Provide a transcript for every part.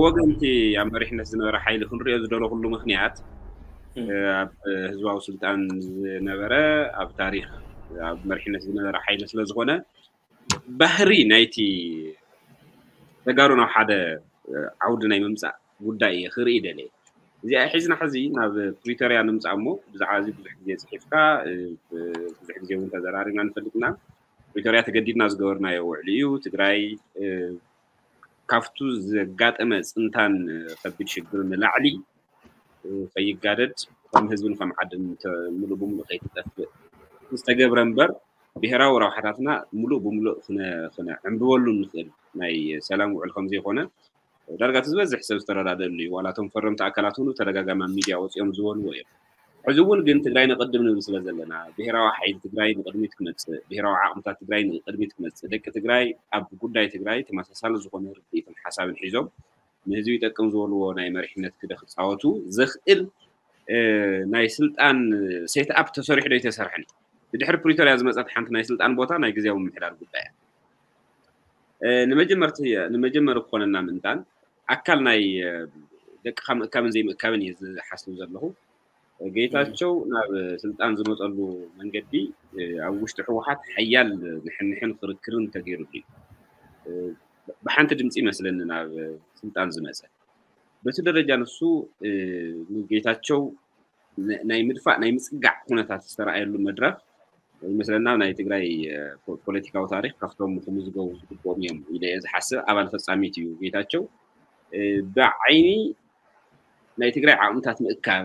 ወገንቲ ኣብ መሪሕነት ዝነበረ ሓይሊ ክንሪኦ ዝደለኹሉ ምኽንያት ኣብ ህዝባዊ ስልጣን ዝነበረ ኣብ ታሪኽ ኣብ መሪሕነት ዝነበረ ሓይሊ ስለ ዝኾነ ባህሪ ናይቲ ተጋሩ ናብ ሓደ ዓውዲ ናይ ምምፃእ ጉዳይ እየ ክርኢ ደልየ። እዚኣ ሒዝና ሕዚ ናብ ፕሪቶርያ ንምፃእ እሞ ብዛዕባ እዚ ብዙሕ ግዜ ፅሒፍካ ብዙሕ ግዜ እውን ተዘራሪብና ንፈልጥና። ፕሪቶርያ ተገዲድና ዝገበርናዮ ውዕሊ እዩ። ትግራይ ካብቱ ዘጋጠመ ፅንታን ከቢድ ሽግር ንላዕሊ ከይጋደድ ከም ህዝብን ከም ዓድን ምሉእ ብምሉእ ከይትጠፍእ ዝተገብረ እምበር ብሄራዊ ረብሓታትና ምሉእ ብምሉእ ክነዕንብበሉ ንኽእል ናይ ሰላም ውዕል ከም ዘይኮነ ዳርጋ እቲ ዝበዝሕ ሰብ ዝተረዳደሉ እዩ። ዋላ እቶም ፈረምቲ ኣካላት እውን ተደጋጋሚ ኣብ ሚድያ ወፂኦም ዝበልዎ እዮም። ሕዚ እውን ግን ትግራይ ንቕድም ንብል ስለ ዘለና ብሄራዊ ሓይሊ ትግራይ ንቕድሚት ክመፅእ፣ ብሄራዊ ዓቕምታት ትግራይ ንቕድሚት ክመፅእ፣ ደቂ ትግራይ ኣብ ጉዳይ ትግራይ ተመሳሳሊ ዝኾነ ርድኢትን ሓሳብን ሒዞም ንህዝቢ ይጠቅም ዝበልዎ ናይ መሪሕነት ክደ ክፃወቱ ዘኽእል ናይ ስልጣን ሴት ኣፕ ተሰሪሑ ዶ ኣይተሰርሐን? ብድሕሪ ፕሪቶርያ ዝመፀት ሓንቲ ናይ ስልጣን ቦታ ናይ ግዜያዊ ምምሕዳር ጉዳይ እያ። ንመጀመርቲ ንመጀመሪ ክኾነና ምእንታን ኣካል ናይ ደቅኻ ምእካብን ዘይምእካብን እየ ዝሓስብ ዘለኹ። ጌታቸው ናብ ስልጣን ዝመፀሉ መንገዲ ኣብ ውሽጢ ህወሓት ሓያል ንሕንሕን ክርክርን ተገይሩሉ እዩ። ብሓንቲ ድምፂ ይመስለኒ ናብ ስልጣን ዝመፀ። በቲ ደረጃ ንሱ ንጌታቸው ናይ ምድፋእ ናይ ምፅጋዕ ኩነታት ዝተረኣየሉ መድረኽ ይመስለና ናይ ትግራይ ፖለቲካዊ ታሪክ ካብቶም ክምዝገቡ ዝግብኦም እዮም ኢለ እየ ዝሓስብ። ኣባል ፈፃሚት እዩ ጌታቸው። ብዓይኒ ናይ ትግራይ ዓቕምታት ምእካብ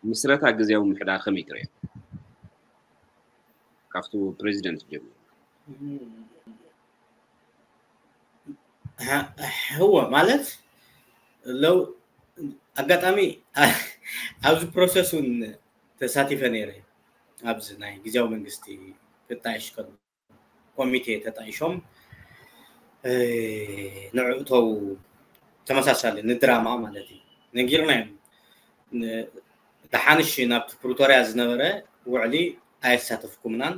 ምስረታ ግዜያዊ ምምሕዳር ከመይ ትርእዮ? ካብቱ ፕሬዚደንት ጀሚሩ ህወ ማለት ለው ኣጋጣሚ ኣብዚ ፕሮሰስ እውን ተሳቲፈ ነይረ። ኣብዚ ናይ ግዜያዊ መንግስቲ ክጣየሽ ከሎ ኮሚቴ ተጣይሾም ንዕእተው ተመሳሳሊ ንድራማ ማለት እዩ ነጊርና እዮም። ደሓንሽ ናብቲ ፕሪቶርያ ዝነበረ ውዕሊ ኣየሳተፍኩምናን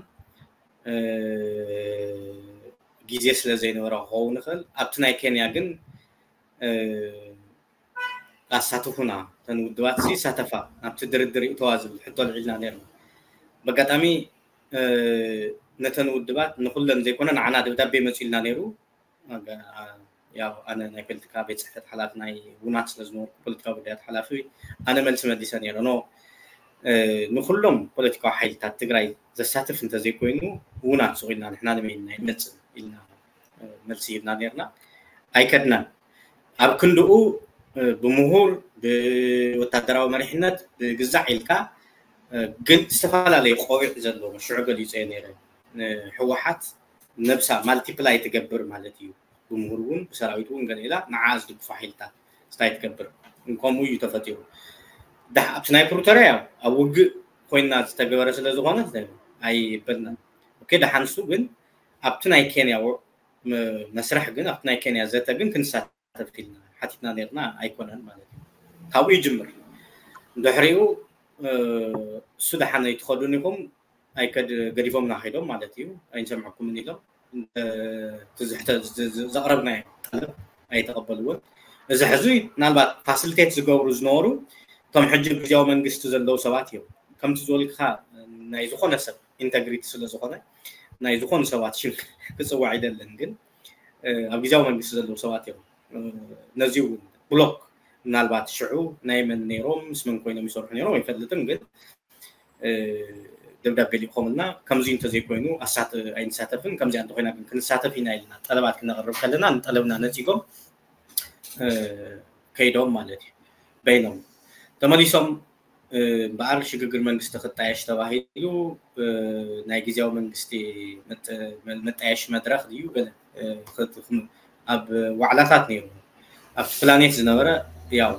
ግዜ ስለ ዘይነበረ ክኸውን ይኽእል። ኣብቲ ናይ ኬንያ ግን ኣሳትፉና፣ እተን ውድባት ሲ ይሳተፋ ናብቲ ድርድር ይእተዋ ዝብል ሕቶ ኣልዒልና ነርና። በጋጣሚ ነተን ውድባት ንኩለን ዘይኮነ ንዓና ደብዳቤ መፂልና ነይሩ። ያው ኣነ ናይ ፖለቲካ ቤት ፅሕፈት ሓላፊ ናይ ውናት ስለ ዝነበርኩ ፖለቲካዊ ጉዳያት ሓላፊ ኣነ መልሲ መሊሰ ነይረ። ኖ ንኩሎም ፖለቲካዊ ሓይልታት ትግራይ ዘሳትፍ እንተዘይኮይኑ ውናት ስቕ ኢልና ንሕና ንመይን ናይ መፅእ ኢልና መልሲ ሂብና ነርና። ኣይከድናን። ኣብ ክንድኡ ብምሁር ብወታደራዊ መሪሕነት ብግዛዕ ኢልካ ግን ዝተፈላለየ ቆቢዕ ዘለዎ ሽዑ ገሊፀ ነይረ። ህወሓት ነብሳ ማልቲፕላይ ትገብር ማለት እዩ። ብምሁር እውን ብሰራዊት እውን ገለ ኢላ ንዓ ዝድግፉ ሓይልታት ስታይ ትገብር። ከምኡ እዩ ተፈጢሩ። ኣብቲ ናይ ፕሪቶርያ ኣብ ውግእ ኮይና ዝተገበረ ስለ ዝኾነ ኣይበልናን። ኦኬ ደሓንሱ ግን ኣብቲ ናይ ኬንያ መስርሕ ግን ኣብቲ ናይ ኬንያ ዘተ ግን ክንሳተፍ ኢልና ሓቲትና ነርና ኣይኮነን ማለት እዩ። ካብኡ ይጅምር። ድሕሪኡ እሱ ደሓን ኣይትኸዱን ኢኹም ኣይከድ ገዲፎምና ከይዶም ማለት እዩ። ኣይንሰምዐኩምን ኢሎም ዘቕረብናዮ ጠለብ ኣይተቐበልዎን። እዚ ሕዚ ምናልባት ፋሲሊቴት ዝገብሩ ዝነበሩ እቶም ሕጂ ግዜያዊ መንግስቲ ዘለዉ ሰባት እዮም። ከምቲ ዝበልካ ናይ ዝኾነ ሰብ ኢንተግሪቲ ስለ ዝኾነ ናይ ዝኾኑ ሰባት ሽም ክፅዋዕ ኣይደልን፣ ግን ኣብ ግዜያዊ መንግስቲ ዘለዉ ሰባት እዮም። ነዚ እውን ብሎክ ምናልባት ሽዑ ናይ መን ነይሮም ምስ መን ኮይኖም ይሰርሑ ነይሮም ኣይፈልጥን፣ ግን ደብዳቤ ሊእኾምልና ከምዚ እንተዘይኮይኑ ኣይንሳተፍን፣ ከምዚኣ እንተኮይና ግን ክንሳተፍ ኢና ኢልና ጠለባት ክነቕርብ ከለና ንጠለብና ነፂጎም ከይዶም ማለት እዩ። በይኖም ተመሊሶም እምበኣር ሽግግር መንግስቲ ክጣየሽ ተባሂሉ ናይ ግዜያዊ መንግስቲ መጣየሽ መድረኽ ድዩ ገለ ኣብ ዋዕላታት ነይሩ። ኣብቲ ፕላኔት ዝነበረ ያው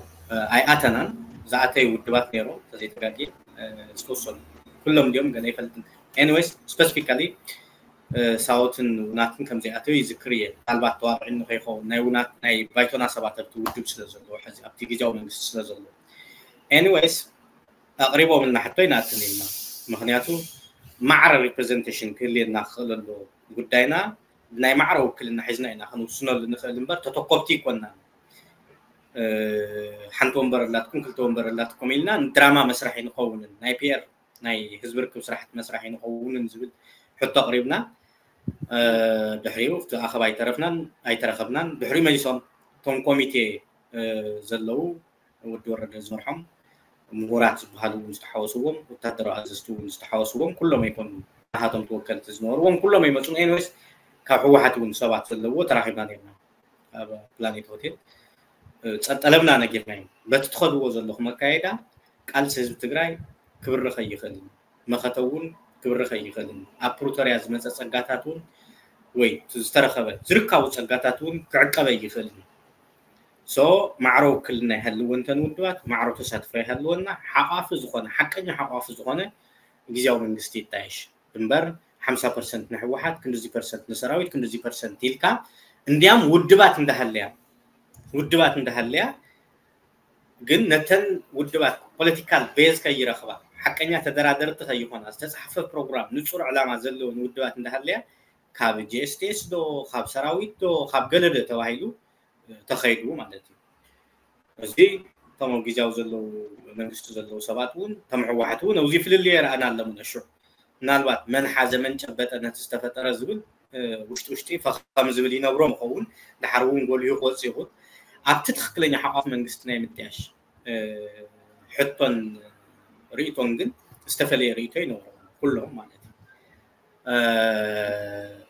ኣይኣተናን። ዝኣተዩ ውድባት ነይሩ ተዘይተጋጊ ዝተወሰኑ ኩሎም እንዲዮም ገለ ይፈልጥን። ኤኒዌይስ ስፐሲፊካሊ ሳውትን ውናትን ከም ዘይኣተዩ ይዝክር እየ። ምናልባት ተዋቕዒ ንኸይኸውን ናይ ውናት ናይ ባይቶና ሰባት ኣብቲ ውድብ ስለ ዘለዎ ሕዚ ኣብቲ ግዜያዊ መንግስቲ ስለ ዘለዎ ኤኒዌይስ ኣቕሪቦምልና ሕቶ ይንኣትን ኢልና። ምኽንያቱ ማዕረ ሪፕሬዘንቴሽን ክህልየና ክኽእል ኣለዎ። ጉዳይና ብናይ ማዕረ ውክልና ሒዝና ኢና ክንውስነሉ ንኽእል እምበር ተተኮብቲ ኣይኮንናን። ሓንቲ ወንበር ኣላትኩም፣ ክልተ ወንበር ኣላትኩም ኢልና ንድራማ መስራሕ ይንኸውንን ናይ ፒ ኣር ናይ ህዝቢ ርክብ ስራሕቲ መስራሕ ይንኸውንን ዝብል ሕቶ ኣቕሪብና። ድሕሪኡ እቲ ኣኸባ ኣይተረፍናን ኣይተረኸብናን። ድሕሪኡ መሊሶም እቶም ኮሚቴ ዘለዉ ወዲ ወረደ ዝመርሖም ምሁራት ዝበሃሉ እውን ዝተሓወስዎም፣ ወታደራዊ ኣዘዝቲ እውን ዝተሓወስዎም፣ ኩሎም ኣይኮኑ ናሃቶም ተወከልቲ ዝነበርዎም ኩሎም ኣይመፁን። ኤንዌስ ካብ ህወሓት እውን ሰባት ዘለዎ ተራኺብና ነርና ኣብ ፕላኔት ሆቴል። ፀጠለምና ነጊርናዮም። በቲ ትኸድዎ ዘለኹም ኣካየዳ ቃልሲ ህዝቢ ትግራይ ክብርኽ ኣይኽእልን፣ መኸተ እውን ክብርኽ ኣይኽእልን። ኣብ ፕሪቶርያ ዝመፀ ፀጋታት እውን ወይ ዝተረኸበ ዝርካቡ ፀጋታት እውን ክዕቀበ ኣይኽእልን። ሶ ማዕሮ ውክልና ይሃልወን እተን ውድባት፣ ማዕሮ ተሳትፎ ይሃልወና። ሓቋፊ ዝኾነ ሓቀኛ ሓቋፊ ዝኾነ ግዝያዊ መንግስቲ ይጣየሽ እምበር ሓምሳ ፐርሰንት ንህወሓት ክንድዚ ፐርሰንት ንሰራዊት ክንድዚ ፐርሰንት ኢልካ እንዲያም ውድባት እንዳሃለያ ውድባት እንዳሃለያ ግን ነተን ውድባት ፖለቲካል ቤዝ ከይረኽባ ሓቀኛ ተደራደርቲ ከይኾና ዝተፃሕፈ ፕሮግራም ንፁር ዕላማ ዘለውን ውድባት እንዳሃለያ ካብ ጂ ኤስ ቲ ኤስ ዶ ካብ ሰራዊት ዶ ካብ ገለ ዶ ተባሂሉ ተኸይዱ ማለት እዩ። እዚ እቶም ኣብ ግዝያዊ ዘለዉ መንግስቲ ዘለዉ ሰባት እውን እቶም ህወሓት እውን ኣብዚ ፍልልዮ ይረኣና ኣለሙን ኣሹዕ ምናልባት መን ሓዘ መን ጨበጠ ነቲ ዝተፈጠረ ዝብል ውሽጢ ውሽጢ ፈኸም ዝብል ይነብሮም ይኸውን። ድሓር እውን ጎሊሁ ክወፅእ ይኹን። ኣብቲ ትኽክለኛ ሓቋፍ መንግስቲ ናይ ምጥያሽ ሕቶን ርእቶን ግን ዝተፈለየ ርእቶ ይነብሮም ኩሎም ማለት እዩ።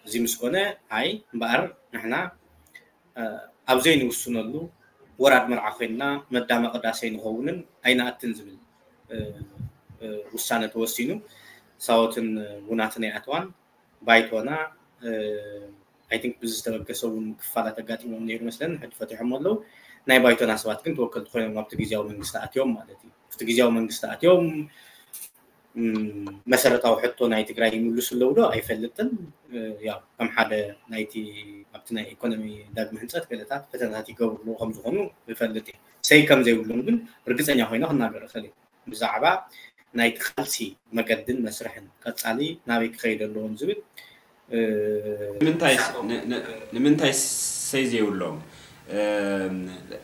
እዚ ምስ ኮነ ኣይ እምበኣር ንሕና ኣብ ዘይንውስነሉ ወራድ መርዓ ኮይንና መዳመ ቅዳሴ ንኸውንን ኣይንኣትን ዝብል ውሳነ ተወሲኑ ሳወትን ውናትን ኣይኣተዋን። ባይቶና ኣይ ቲንክ ብዝተበገሰ እውን ክፋላት ኣጋጢሞም ነይሩ መስለን ሕጂ ፈቲሖም ኣለዉ። ናይ ባይቶና ሰባት ግን ተወከልቲ ኮይኖም ኣብቲ ግዝያዊ መንግስቲ ኣትዮም ማለት እዩ። ኣብቲ ግዝያዊ መንግስቲ ኣትዮም መሰረታዊ ሕቶ ናይ ትግራይ ይምልሱ ኣለዉ ዶ ኣይፈልጥን። ያው ከም ሓደ ናይቲ ኣብቲ ናይ ኢኮኖሚ ዳግመ ህንፀት ገለታት ፈተናታት ይገብሩ ኣለዉ ከም ዝኾኑ ይፈልጥ እየ። ሰይ ከም ዘይብሎም ግን ርግፀኛ ኮይነ ክናገር እኽእል እየ። ብዛዕባ ናይቲ ቃልሲ መገድን መስርሕን ቀፃሊ ናበይ ክኸይድ ኣለዎም ዝብል ንምንታይ ሰይ ዘይብሎም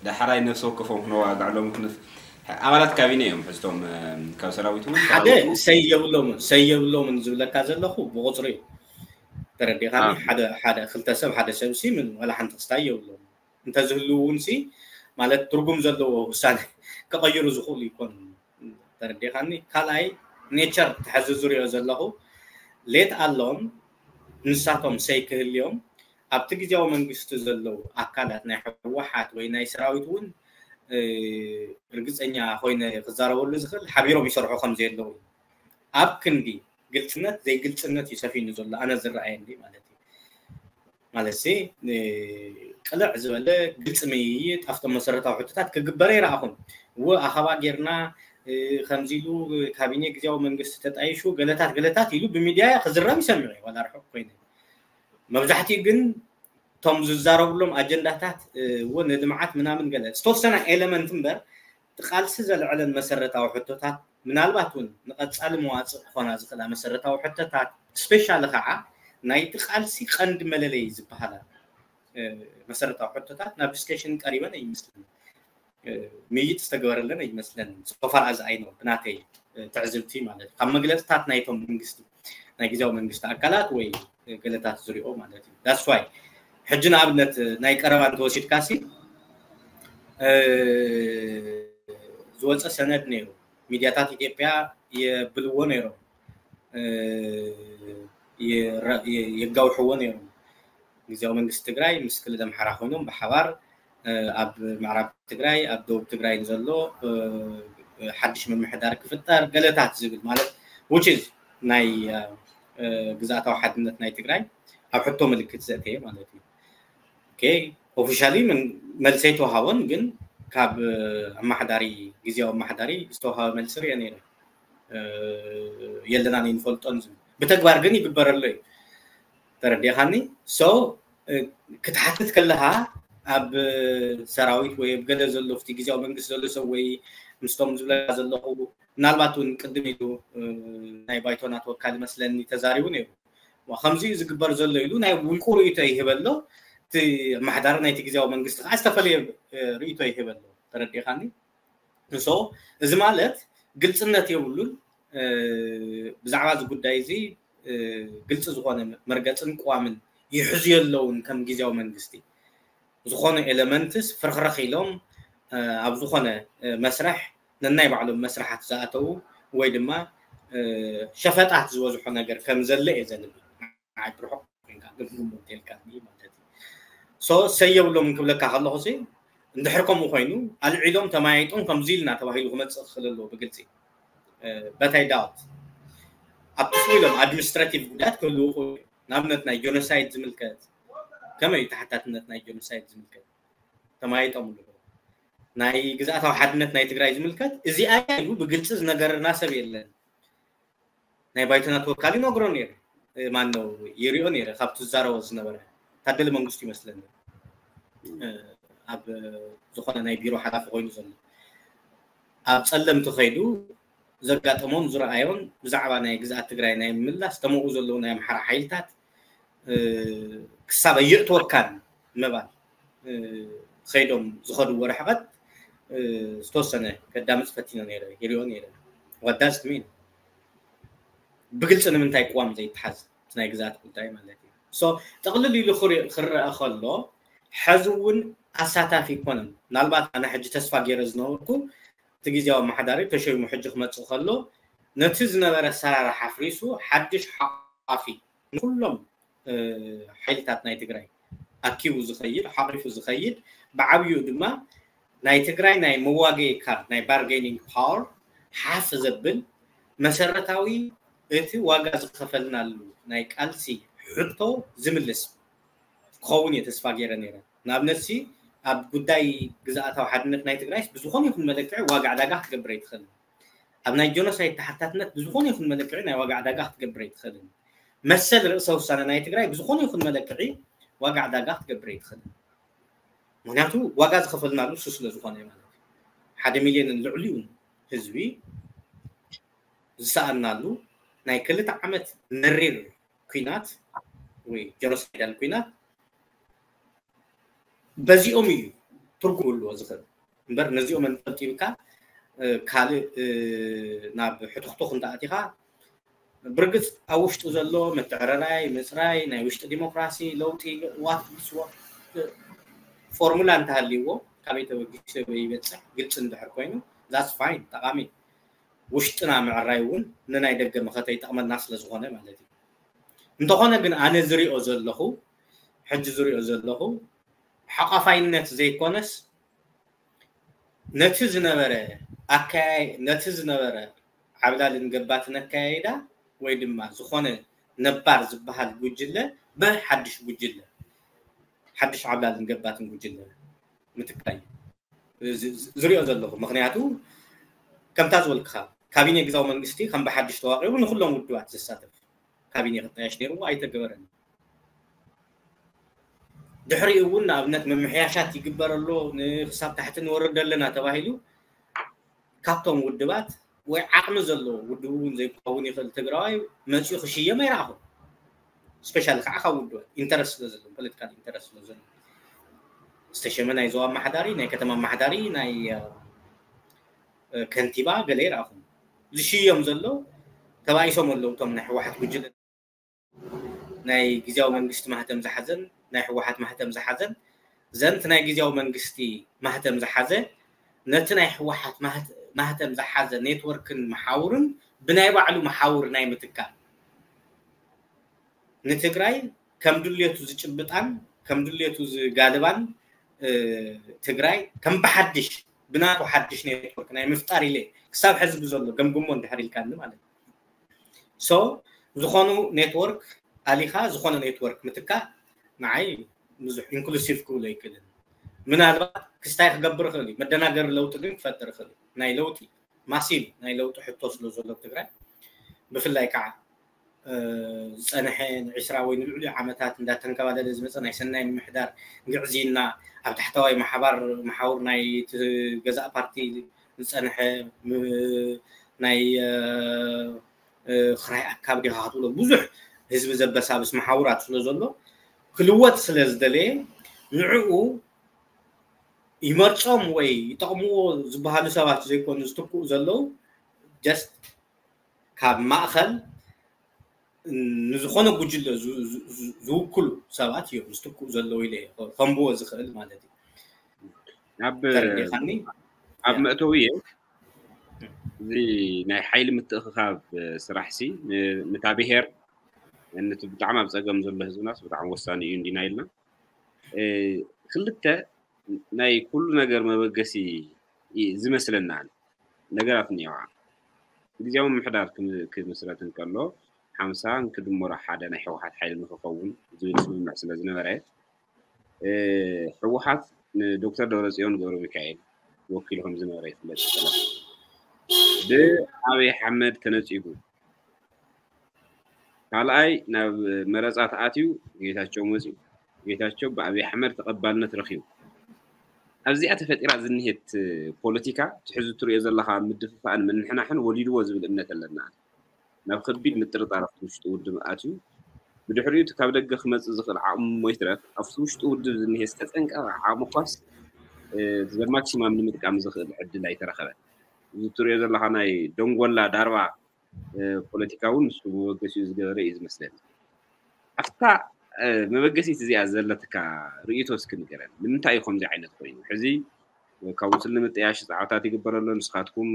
ዳሕራይ ነፍሲ ወከፎም ክነዋግዕሎም ክንፍ ኣባላት ካቢነ እዮም ሕዝቶም ካብ ሰራዊት እውን ሓደ ሰይ የብሎምን ሰይ የብሎምን ዝብለካ ዘለኹ ብቁፅሪ እዩ። ተረዲኻኒ? ሓደ ሓደ ክልተ ሰብ ሓደ ሰብ ሲ ምን ዋላ ሓንቲ ክስታይ የብሎም። እንተዝህልው እውን ሲ ማለት ትርጉም ዘለዎ ውሳነ ክቐይሩ ዝኽእሉ ይኮኑ። ተረዲኻኒ? ካልኣይ ኔቸር ተሐዚ ዝሪኦ ዘለኹ ሌት ኣሎም ንሳቶም ሰይ ክህልዮም ኣብቲ ግዜያዊ መንግስቲ ዘለዉ ኣካላት ናይ ህወሓት ወይ ናይ ሰራዊት እውን ርግፀኛ ኮይነ ክዛረበሉ ዝኽእል ሓቢሮም ይሰርሑ ከም ዘየለዉ ኣብ ክንዲ ግልፅነት ዘይግልፅነት እዩ ሰፊኑ ዘሎ ኣነ ዝረኣየኒ ማለት እዩ። ማለት ሲ ቅልዕ ዝበለ ግልፂ ምይይጥ ኣብቶም መሰረታዊ ሕቶታት ክግበረ ይረኣኹም። እወ ኣኸባ ጌርና ከምዚ ኢሉ ካቢኔ ግዜያዊ መንግስቲ ተጣይሹ ገለታት ገለታት ኢሉ ብሚድያ ክዝረብ ይሰምዕ ዋላ ርሑቅ ኮይነ መብዛሕትኡ ግን እቶም ዝዛረብሎም ኣጀንዳታት እውን ንልምዓት ምናምን ገለ ዝተወሰነ ኤለመንት እምበር እቲ ቃልሲ ዘልዕለን መሰረታዊ ሕቶታት ምናልባት እውን ንቐፃሊ መዋፅእ ክኾና ዝኽእላ መሰረታዊ ሕቶታት ስፔሻሊ ከዓ ናይቲ ቃልሲ ቀንዲ መለለይ ዝበሃላ መሰረታዊ ሕቶታት ናብ ዲስከሽን ቀሪበን ኣይመስለኒ። ምይይጥ ዝተገበረለን ኣይመስለንን። ሶፋር ኣዝ ኣይ ኖ ብናተይ ትዕዝብቲ ማለት እዩ ካብ መግለፅታት ናይቶም መንግስቲ ናይ ግዜያዊ መንግስቲ ኣካላት ወይ ገለታት ዝሪኦ ማለት እዩ። ዳስ ዋይ ሕጂ ንኣብነት ናይ ቀረባ እንተወሲድካሲ ዝወፀ ሰነድ ነይሩ ሚድያታት ኢትዮጵያ የብልዎ ነይሮም የጋውሕዎ ነይሮም። ግዜያዊ መንግስቲ ትግራይ ምስ ክልል ኣምሓራ ኮይኖም ብሓባር ኣብ ምዕራብ ትግራይ ኣብ ደቡብ ትግራይ ንዘሎ ሓድሽ ምምሕዳር ክፍጠር ገለታት ዝብል ማለት ውችዝ ናይ ግዛእታዊ ሓድነት ናይ ትግራይ ኣብ ሕቶ ምልክት ዘእተየ ማለት እዩ። ኦፊሻሊ መልሲ ኣይተዋሃቦን ግን ካብ ኣማሓዳሪ ግዜያዊ ኣማሓዳሪ ዝተዋሃበ መልሲ ርየ ነይረ። የለናን ኣይንፈልጦን ዝብል ብተግባር ግን ይግበረሎ እዩ። ተረዲኻኒ? ሶ ክትሓትት ከለኻ ኣብ ሰራዊት ወይ ኣብ ገለ ዘሎ ፍቲ ግዜያዊ መንግስቲ ዘሎ ሰብ ወይ ምስቶም ዝብለካ ዘለኹ ምናልባት እውን ቅድም ኢሉ ናይ ባይቶና ተወካሊ መስለኒ ተዛሪቡ ነይሩ። ከምዚ እዩ ዝግበር ዘሎ ኢሉ ናይ ውልቁ ርእይቶ ይህበሎ። እቲ ኣመሓዳሪ ናይቲ ግዜያዊ መንግስቲ ከዓ ዝተፈለየ ርእይቶ ይህበሎ። ተረዲእካኒ? So እዚ ማለት ግልፅነት የብሉን። ብዛዕባ እዚ ጉዳይ እዚ ግልፂ ዝኾነ መርገፅን ቅዋምን ይሕዙ የለውን። ከም ግዝያዊ መንግስቲ ዝኾነ ኤለመንትስ ፍርኽርኽ ኢሎም ኣብ ዝኾነ መስርሕ ነናይ ባዕሎም መስርሓት ዝኣተዉ ወይ ድማ ሸፈጣት ዝበዝሖ ነገር ከም ዘለ እየ ዘንብል። ንዓይ ብርሑቕ ኮይንካ ግን ግምት የልካኒ ማለት እዩ። So ሰየብሎም ክብለካ ከለኹ ሲ እንድሕር ከምኡ ኮይኑ ኣልዒሎም ተማያይጦም ከምዚ ኢልና ተባሂሉ ክመፅእ ክኽእል ኣለዎ ብግልፂ። በታይ ዳውት ኣብቲ ስሙ ኢሎም ኣድሚኒስትራቲቭ ጉዳያት ክህልዉ ይኽእሉ እዮም። ንኣብነት ናይ ጆኖሳይድ ዝምልከት ከመይ እዩ ተሓታትነት ናይ ጆኖሳይድ ዝምልከት ተማያይጦም ኣለዉ። ናይ ግዝኣታዊ ሓድነት ናይ ትግራይ ዝምልከት እዚኣ ኢሉ ብግልፂ ዝነገረና ሰብ የለን። ናይ ባይቶና ተወካሊ ነግሮ ነይረ። ማን ነው ይሪኦ ነይረ ካብቲ ዝዛረቦ ዝነበረ ታደለ መንግስቱ ይመስለኒ። ኣብ ዝኾነ ናይ ቢሮ ሓላፊ ኮይኑ ዘሎ ኣብ ፀለምቲ ከይዱ ዘጋጠሞን ዝረኣዮን ብዛዕባ ናይ ግዝኣት ትግራይ ናይ ምምላስ ተመኡ ዘለዉ ናይ ኣምሓራ ሓይልታት ክሳብ ኣየእትወካን ምባል ከይዶም ዝኸድዎ ርሕቐት ዝተወሰነ ከዳምፅ ፈቲነ ነይረ ይሪኦ ነይረ። What does it mean? ብግልፂ ንምንታይ ቅዋም ዘይተሓዝ ናይ ግዛት ጉዳይ ማለት እዩ። So ጥቕልል ኢሉ ክረአ ከሎ ሕዚ እውን ኣሳታፊ ይኮነን። ምናልባት ኣነ ሕጂ ተስፋ ገይረ ዝነበርኩ እቲ ግዜያዊ ኣመሓዳሪ ተሸይሙ ሕጂ ክመፅእ ከሎ ነቲ ዝነበረ ኣሰራርሓ ኣፍሪሱ ሓድሽ ሓቋፊ ንኩሎም ሓይልታት ናይ ትግራይ ኣኪቡ ዝኸይድ ሓቂፉ ዝኸይድ ብዓብዩ ድማ ናይ ትግራይ ናይ መዋገይ ካርድ ናይ ባርጌኒንግ ፓወር ሓፍ ዘብል መሰረታዊ እቲ ዋጋ ዝኸፈልናሉ ናይ ቃልሲ ሕቶ ዝምልስ ክኸውን እየ ተስፋ ገይረ ነይረ። ንኣብነትሲ ኣብ ጉዳይ ግዝኣታዊ ሓድነት ናይ ትግራይ ብዝኾነ ይኹን መለክዒ ዋጋ ዕዳጋ ክትገብር ኣይትኽእልን። ኣብ ናይ ጆኖሳይድ ተሓታትነት ብዝኾነ ይኹን መለክዒ ናይ ዋጋ ዕዳጋ ክትገብር ኣይትኽእልን። መሰል ርእሰ ውሳነ ናይ ትግራይ ብዝኾነ ይኹን መለክዒ ዋጋ ዕዳጋ ክትገብር ኣይትኽእልን። ምክንያቱ ዋጋ ዝኸፈልናሉ እሱ ስለ ዝኾነ ማለት እዩ። ሓደ ሚልዮንን ልዕሊኡ ህዝቢ ዝሰኣናሉ ናይ ክልተ ዓመት መሪር ኲናት ወይ ጀኖሳይዳል ኲናት በዚኦም እዩ ትርጉም ክህልዎ ዝኽእል እምበር ነዚኦም ኣንጠብጢብካ ካልእ ናብ ሕትኽቱኽ እንተኣቲኻ ብርግፅ ኣብ ውሽጡ ዘሎ ምትዕርራይ ምፅራይ ናይ ውሽጢ ዲሞክራሲ ለውጢ ዋት ፎርሙላ እንተሃልይዎ ካበይ ተበጊሱ ይበፅሕ ግልፂ እንድሕር ኮይኑ that's fine ጠቓሚ ውሽጥና ምዕራይ እውን ንናይ ደገ መኸተ ይጠቕመና ስለ ዝኾነ ማለት እዩ። እንተኾነ ግን ኣነ ዝሪኦ ዘለኹ ሕጂ ዝሪኦ ዘለኹ ሓቋፋይነት ዘይኮነስ ነቲ ዝነበረ ኣካያይ ነቲ ዝነበረ ዓብላልን ገባትን ኣካያይዳ ወይ ድማ ዝኾነ ነባር ዝበሃል ጉጅለ ብሓድሽ ጉጅለ ሓድሽ ዓብላልን ገባትን ጉጅለ ምትካይ ዝሪኦ ዘለኹ ምክንያቱ ከምታ ዝበልክኻ ካቢኔ ግዛዊ መንግስቲ ከም ብሓድሽ ተዋቂሩ ንኩሎም ውድባት ዘሳተፍ ካቢኔ ክጣየሽ ነይርዎ ኣይተገበረን። ድሕሪኡ እውን ንኣብነት ምምሕያሻት ይግበር ኣሎ ንክሳብ ታሕቲ ንወርድ ኣለና ተባሂሉ ካብቶም ውድባት ወይ ዓቕሚ ዘለዎ ውድብ እውን ዘይከውን ይኽእል ትግራዋይ መፅኡ ክሽየም ኣይረኣኹም። ስፔሻሊ ከዓ ካብ ውድባት ኢንተረስት ስለ ዘለዎ ፖለቲካል ኢንተረስት ስለ ዘለዎ ዝተሸመ ናይ ዞባ ኣመሓዳሪ ናይ ከተማ ኣመሓዳሪ ናይ ከንቲባ ገለ ይረኣኹም። ዝሽየም ዘሎ ተባኢሶም ኣለዉ እቶም ናይ ህወሓት ጉጅለ ናይ ግዝያዊ መንግስቲ ማህተም ዝሓዘን ናይ ህወሓት ማህተም ዝሓዘን ዘንት ናይ ግዝያዊ መንግስቲ ማህተም ዝሓዘ ነቲ ናይ ህወሓት ማህተም ዝሓዘ ኔትወርክን መሓውርን ብናይ ባዕሉ መሓውር ናይ ምትካል ንትግራይ ከም ድሌቱ ዝጭብጣን ከም ድሌቱ ዝጋልባን ትግራይ ከም ብሓድሽ ብናቱ ሓድሽ ኔትወርክ ናይ ምፍጣር ኢለ ክሳብ ሕዚ ብዘሎ ገምግሞ እንድሕር ኢልካኒ ማለት እዩ። So ዝኾኑ ኔትወርክ ኣሊኻ ዝኾነ ኔትወርክ ምትካእ ንዓይ ብዙሕ ኢንክሉሲቭ ክብሎ ኣይክእልን። ምናልባት ክስታይ ክገብር ይኽእል እዩ፣ መደናገሪ ለውጢ ግን ክፈጥር ይኽእል እዩ። ናይ ለውጢ ማሲቭ ናይ ለውጢ ሕቶ ስለ ዘሎ ትግራይ ብፍላይ ከዓ ዝፀንሐ ንዕስራ ወይ ንልዕሊ ዓመታት እንዳተንከባለለ ዝመፀ ናይ ሰናይ ምምሕዳር ግዕዝይና ኣብ ታሕተዋይ ማሓባር መሓውር ናይ ገዛእ ፓርቲ ዝፀንሐ ናይ ክራይ ኣካብ ዲኻ ክትብሎ ብዙሕ ህዝቢ ዘበሳብስ መሓውራት ስለ ዘሎ ክልወጥ ስለ ዝደለየ ንዕኡ ይመርጾም ወይ ይጠቕምዎ ዝበሃሉ ሰባት ዘይኮኑ ዝትክኡ ዘለዉ፣ just ካብ ማእኸል ንዝኾነ ጉጅለ ዝውክሉ ሰባት እዮም ዝትክኡ ዘለዉ ኢለ ከንብቦ ዝኽእል ማለት እዩ። ኣብ መእተዊ እዚ ናይ ሓይሊ ምትእኽኻብ ስራሕ ሲ ነታ ብሄር ነቲ ብጣዕሚ ኣብ ፀገም ዘሎ ህዝብናስ ብጣዕሚ ወሳኒ እዩ እንዲና ኢልና ክልተ ናይ ኩሉ ነገር መበገሲ ዝመስለና ነገራት እኒዋ ግዜያዊ ምምሕዳር ክምስረት እንከሎ ሓምሳ ክድምሮ ሓደ ናይ ህወሓት ሓይሊ ንክኸውን ዝብል ስምምዕ ስለ ዝነበረ ህወሓት ንዶክተር ደብረፅዮን ገብረ ሚካኤል ወኪሉ ከም ዝነበረ ይፍለጥ። ብኣብይ ኣሕመድ ተነፂጉ ካልኣይ ናብ መረፃ ተኣትዩ ጌታቸው መፂኡ። ጌታቸው ብኣብይ ኣሕመድ ተቐባልነት ረኺቡ። ኣብዚኣ ተፈጢራ ዝኒሄት ፖለቲካ ትሕዚ ትሪኦ ዘለኻ ምድፍፋእን ምንሕናሕን ወሊድዎ ዝብል እምነት ኣለና። ናብ ከቢድ ምጥርጣር ኣብቲ ውሽጢ ውድብ ኣትዩ። ብድሕሪኡ እቲ ካብ ደገ ክመፅእ ዝኽእል ዓቕሚ እሞ ይትረፍ ኣብቲ ውሽጢ ውድብ ዝኒሄ ዝተፀንቀቐ ዓቕሚ ኳስ ዘማክሲማም ንምጥቃም ዝኽእል ዕድል ኣይተረኸበን። እዚ ትሪኦ ዘለኻ ናይ ደንጎላ ዳርባ ፖለቲካ እውን ንሱ መበገሲኡ ዝገበረ እዩ ዝመስለኒ። ኣብታ መበገሲት እዚኣ ዘለትካ ርእይቶ እስኪ ንገረን። ንምንታይ እዩ ከምዚ ዓይነት ኮይኑ? ሕዚ ካውንስል ንምጥያሽ ፃዕርታት ይግበረሎ። ንስኻትኩም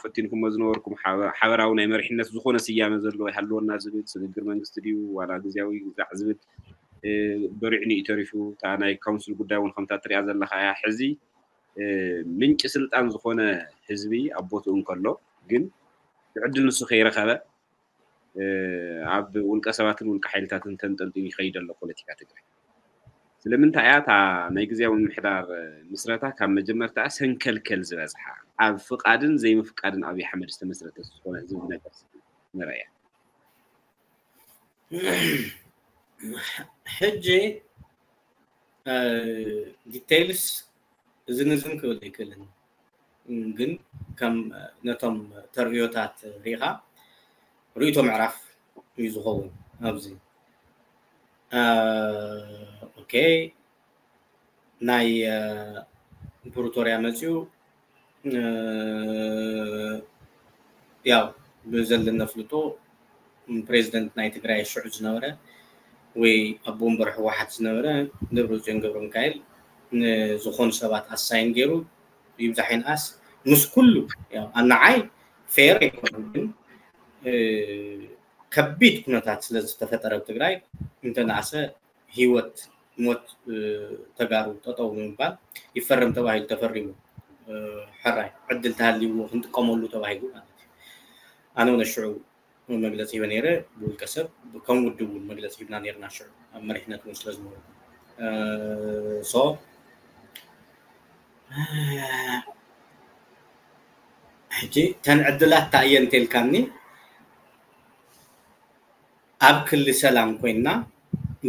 ፈቲንኩሞ ዝነበርኩም ሓበራዊ ናይ መሪሕነት ዝኾነ ስያመ ዘለዎ ይሃልወና ዝብል ስግግር መንግስቲ ድዩ ዋላ ግዜያዊ ግዛዕ ዝብል በሪዕኒ እዩ ተሪፉ። እታ ናይ ካውንስል ጉዳይ እውን ከምታ ትሪኣ ዘለኻ እያ። ሕዚ ምንጪ ስልጣን ዝኾነ ህዝቢ ኣብ ቦትኡ እንከሎ ግን ብዕድል ንሱ ከይረኸበ ኣብ ውልቀ ሰባትን ውልቀ ሓይልታትን ተንጠልጢሉ ይኸይድ ኣሎ ፖለቲካ ትግራይ። ስለምንታይ እያ እታ ናይ ግዜያዊ ምምሕዳር ምስረታ ካብ መጀመርታ ሰንከልከል ዝበዝሓ ኣብ ፍቃድን ዘይምፍቃድን ኣብይ ኣሕመድ ዝተመስረተ ዝኾነ ዝብል ነገር ንረእያ። ሕጂ ዲቴይልስ እዝን እዝን ክብል ኣይክእልን፣ ግን ከም ነቶም ተርእዮታት ርኢኻ ርእይቶ ምዕራፍ እዩ ዝኸውን ኣብዚ። ኦኬ፣ ናይ ፕሪቶርያ መፅዩ ያው ብዘለና ፍልጦ ፕሬዚደንት ናይ ትግራይ ሽዑ ዝነበረ ወይ ኣቦ ወንበር ህወሓት ዝነበረ ደብረፅዮን ገብረ ሚካኤል ንዝኾኑ ሰባት ኣሳይን ገይሩ ይብዛሕ ይንኣስ ምስ ኩሉ ኣናዓይ ፌር ኣይኮነን፣ ግን ከቢድ ኩነታት ስለ ዝተፈጠረ ኣብ ትግራይ እንተነኣሰ ህይወት ሞት ተጋሩ ጠጠው ንምባል ይፈረም ተባሂሉ ተፈሪሙ። ሕራይ ዕድል ተሃልይዎ ክንጥቀመሉ ተባሂሉ ማለት እዩ። ኣነ እውን ሽዑ መግለፂ ሂበ ነይረ። ብውልቀ ሰብ ከም ውድብ እውን መግለፂ ሂብና ነይርና ሽዑ ኣብ መሪሕነት እውን ስለ ዝነበርኩ። ሶ ሕጂ ተን ዕድላት እንታይ እየን እንተልካኒ ኣብ ክሊ ሰላም ኮይና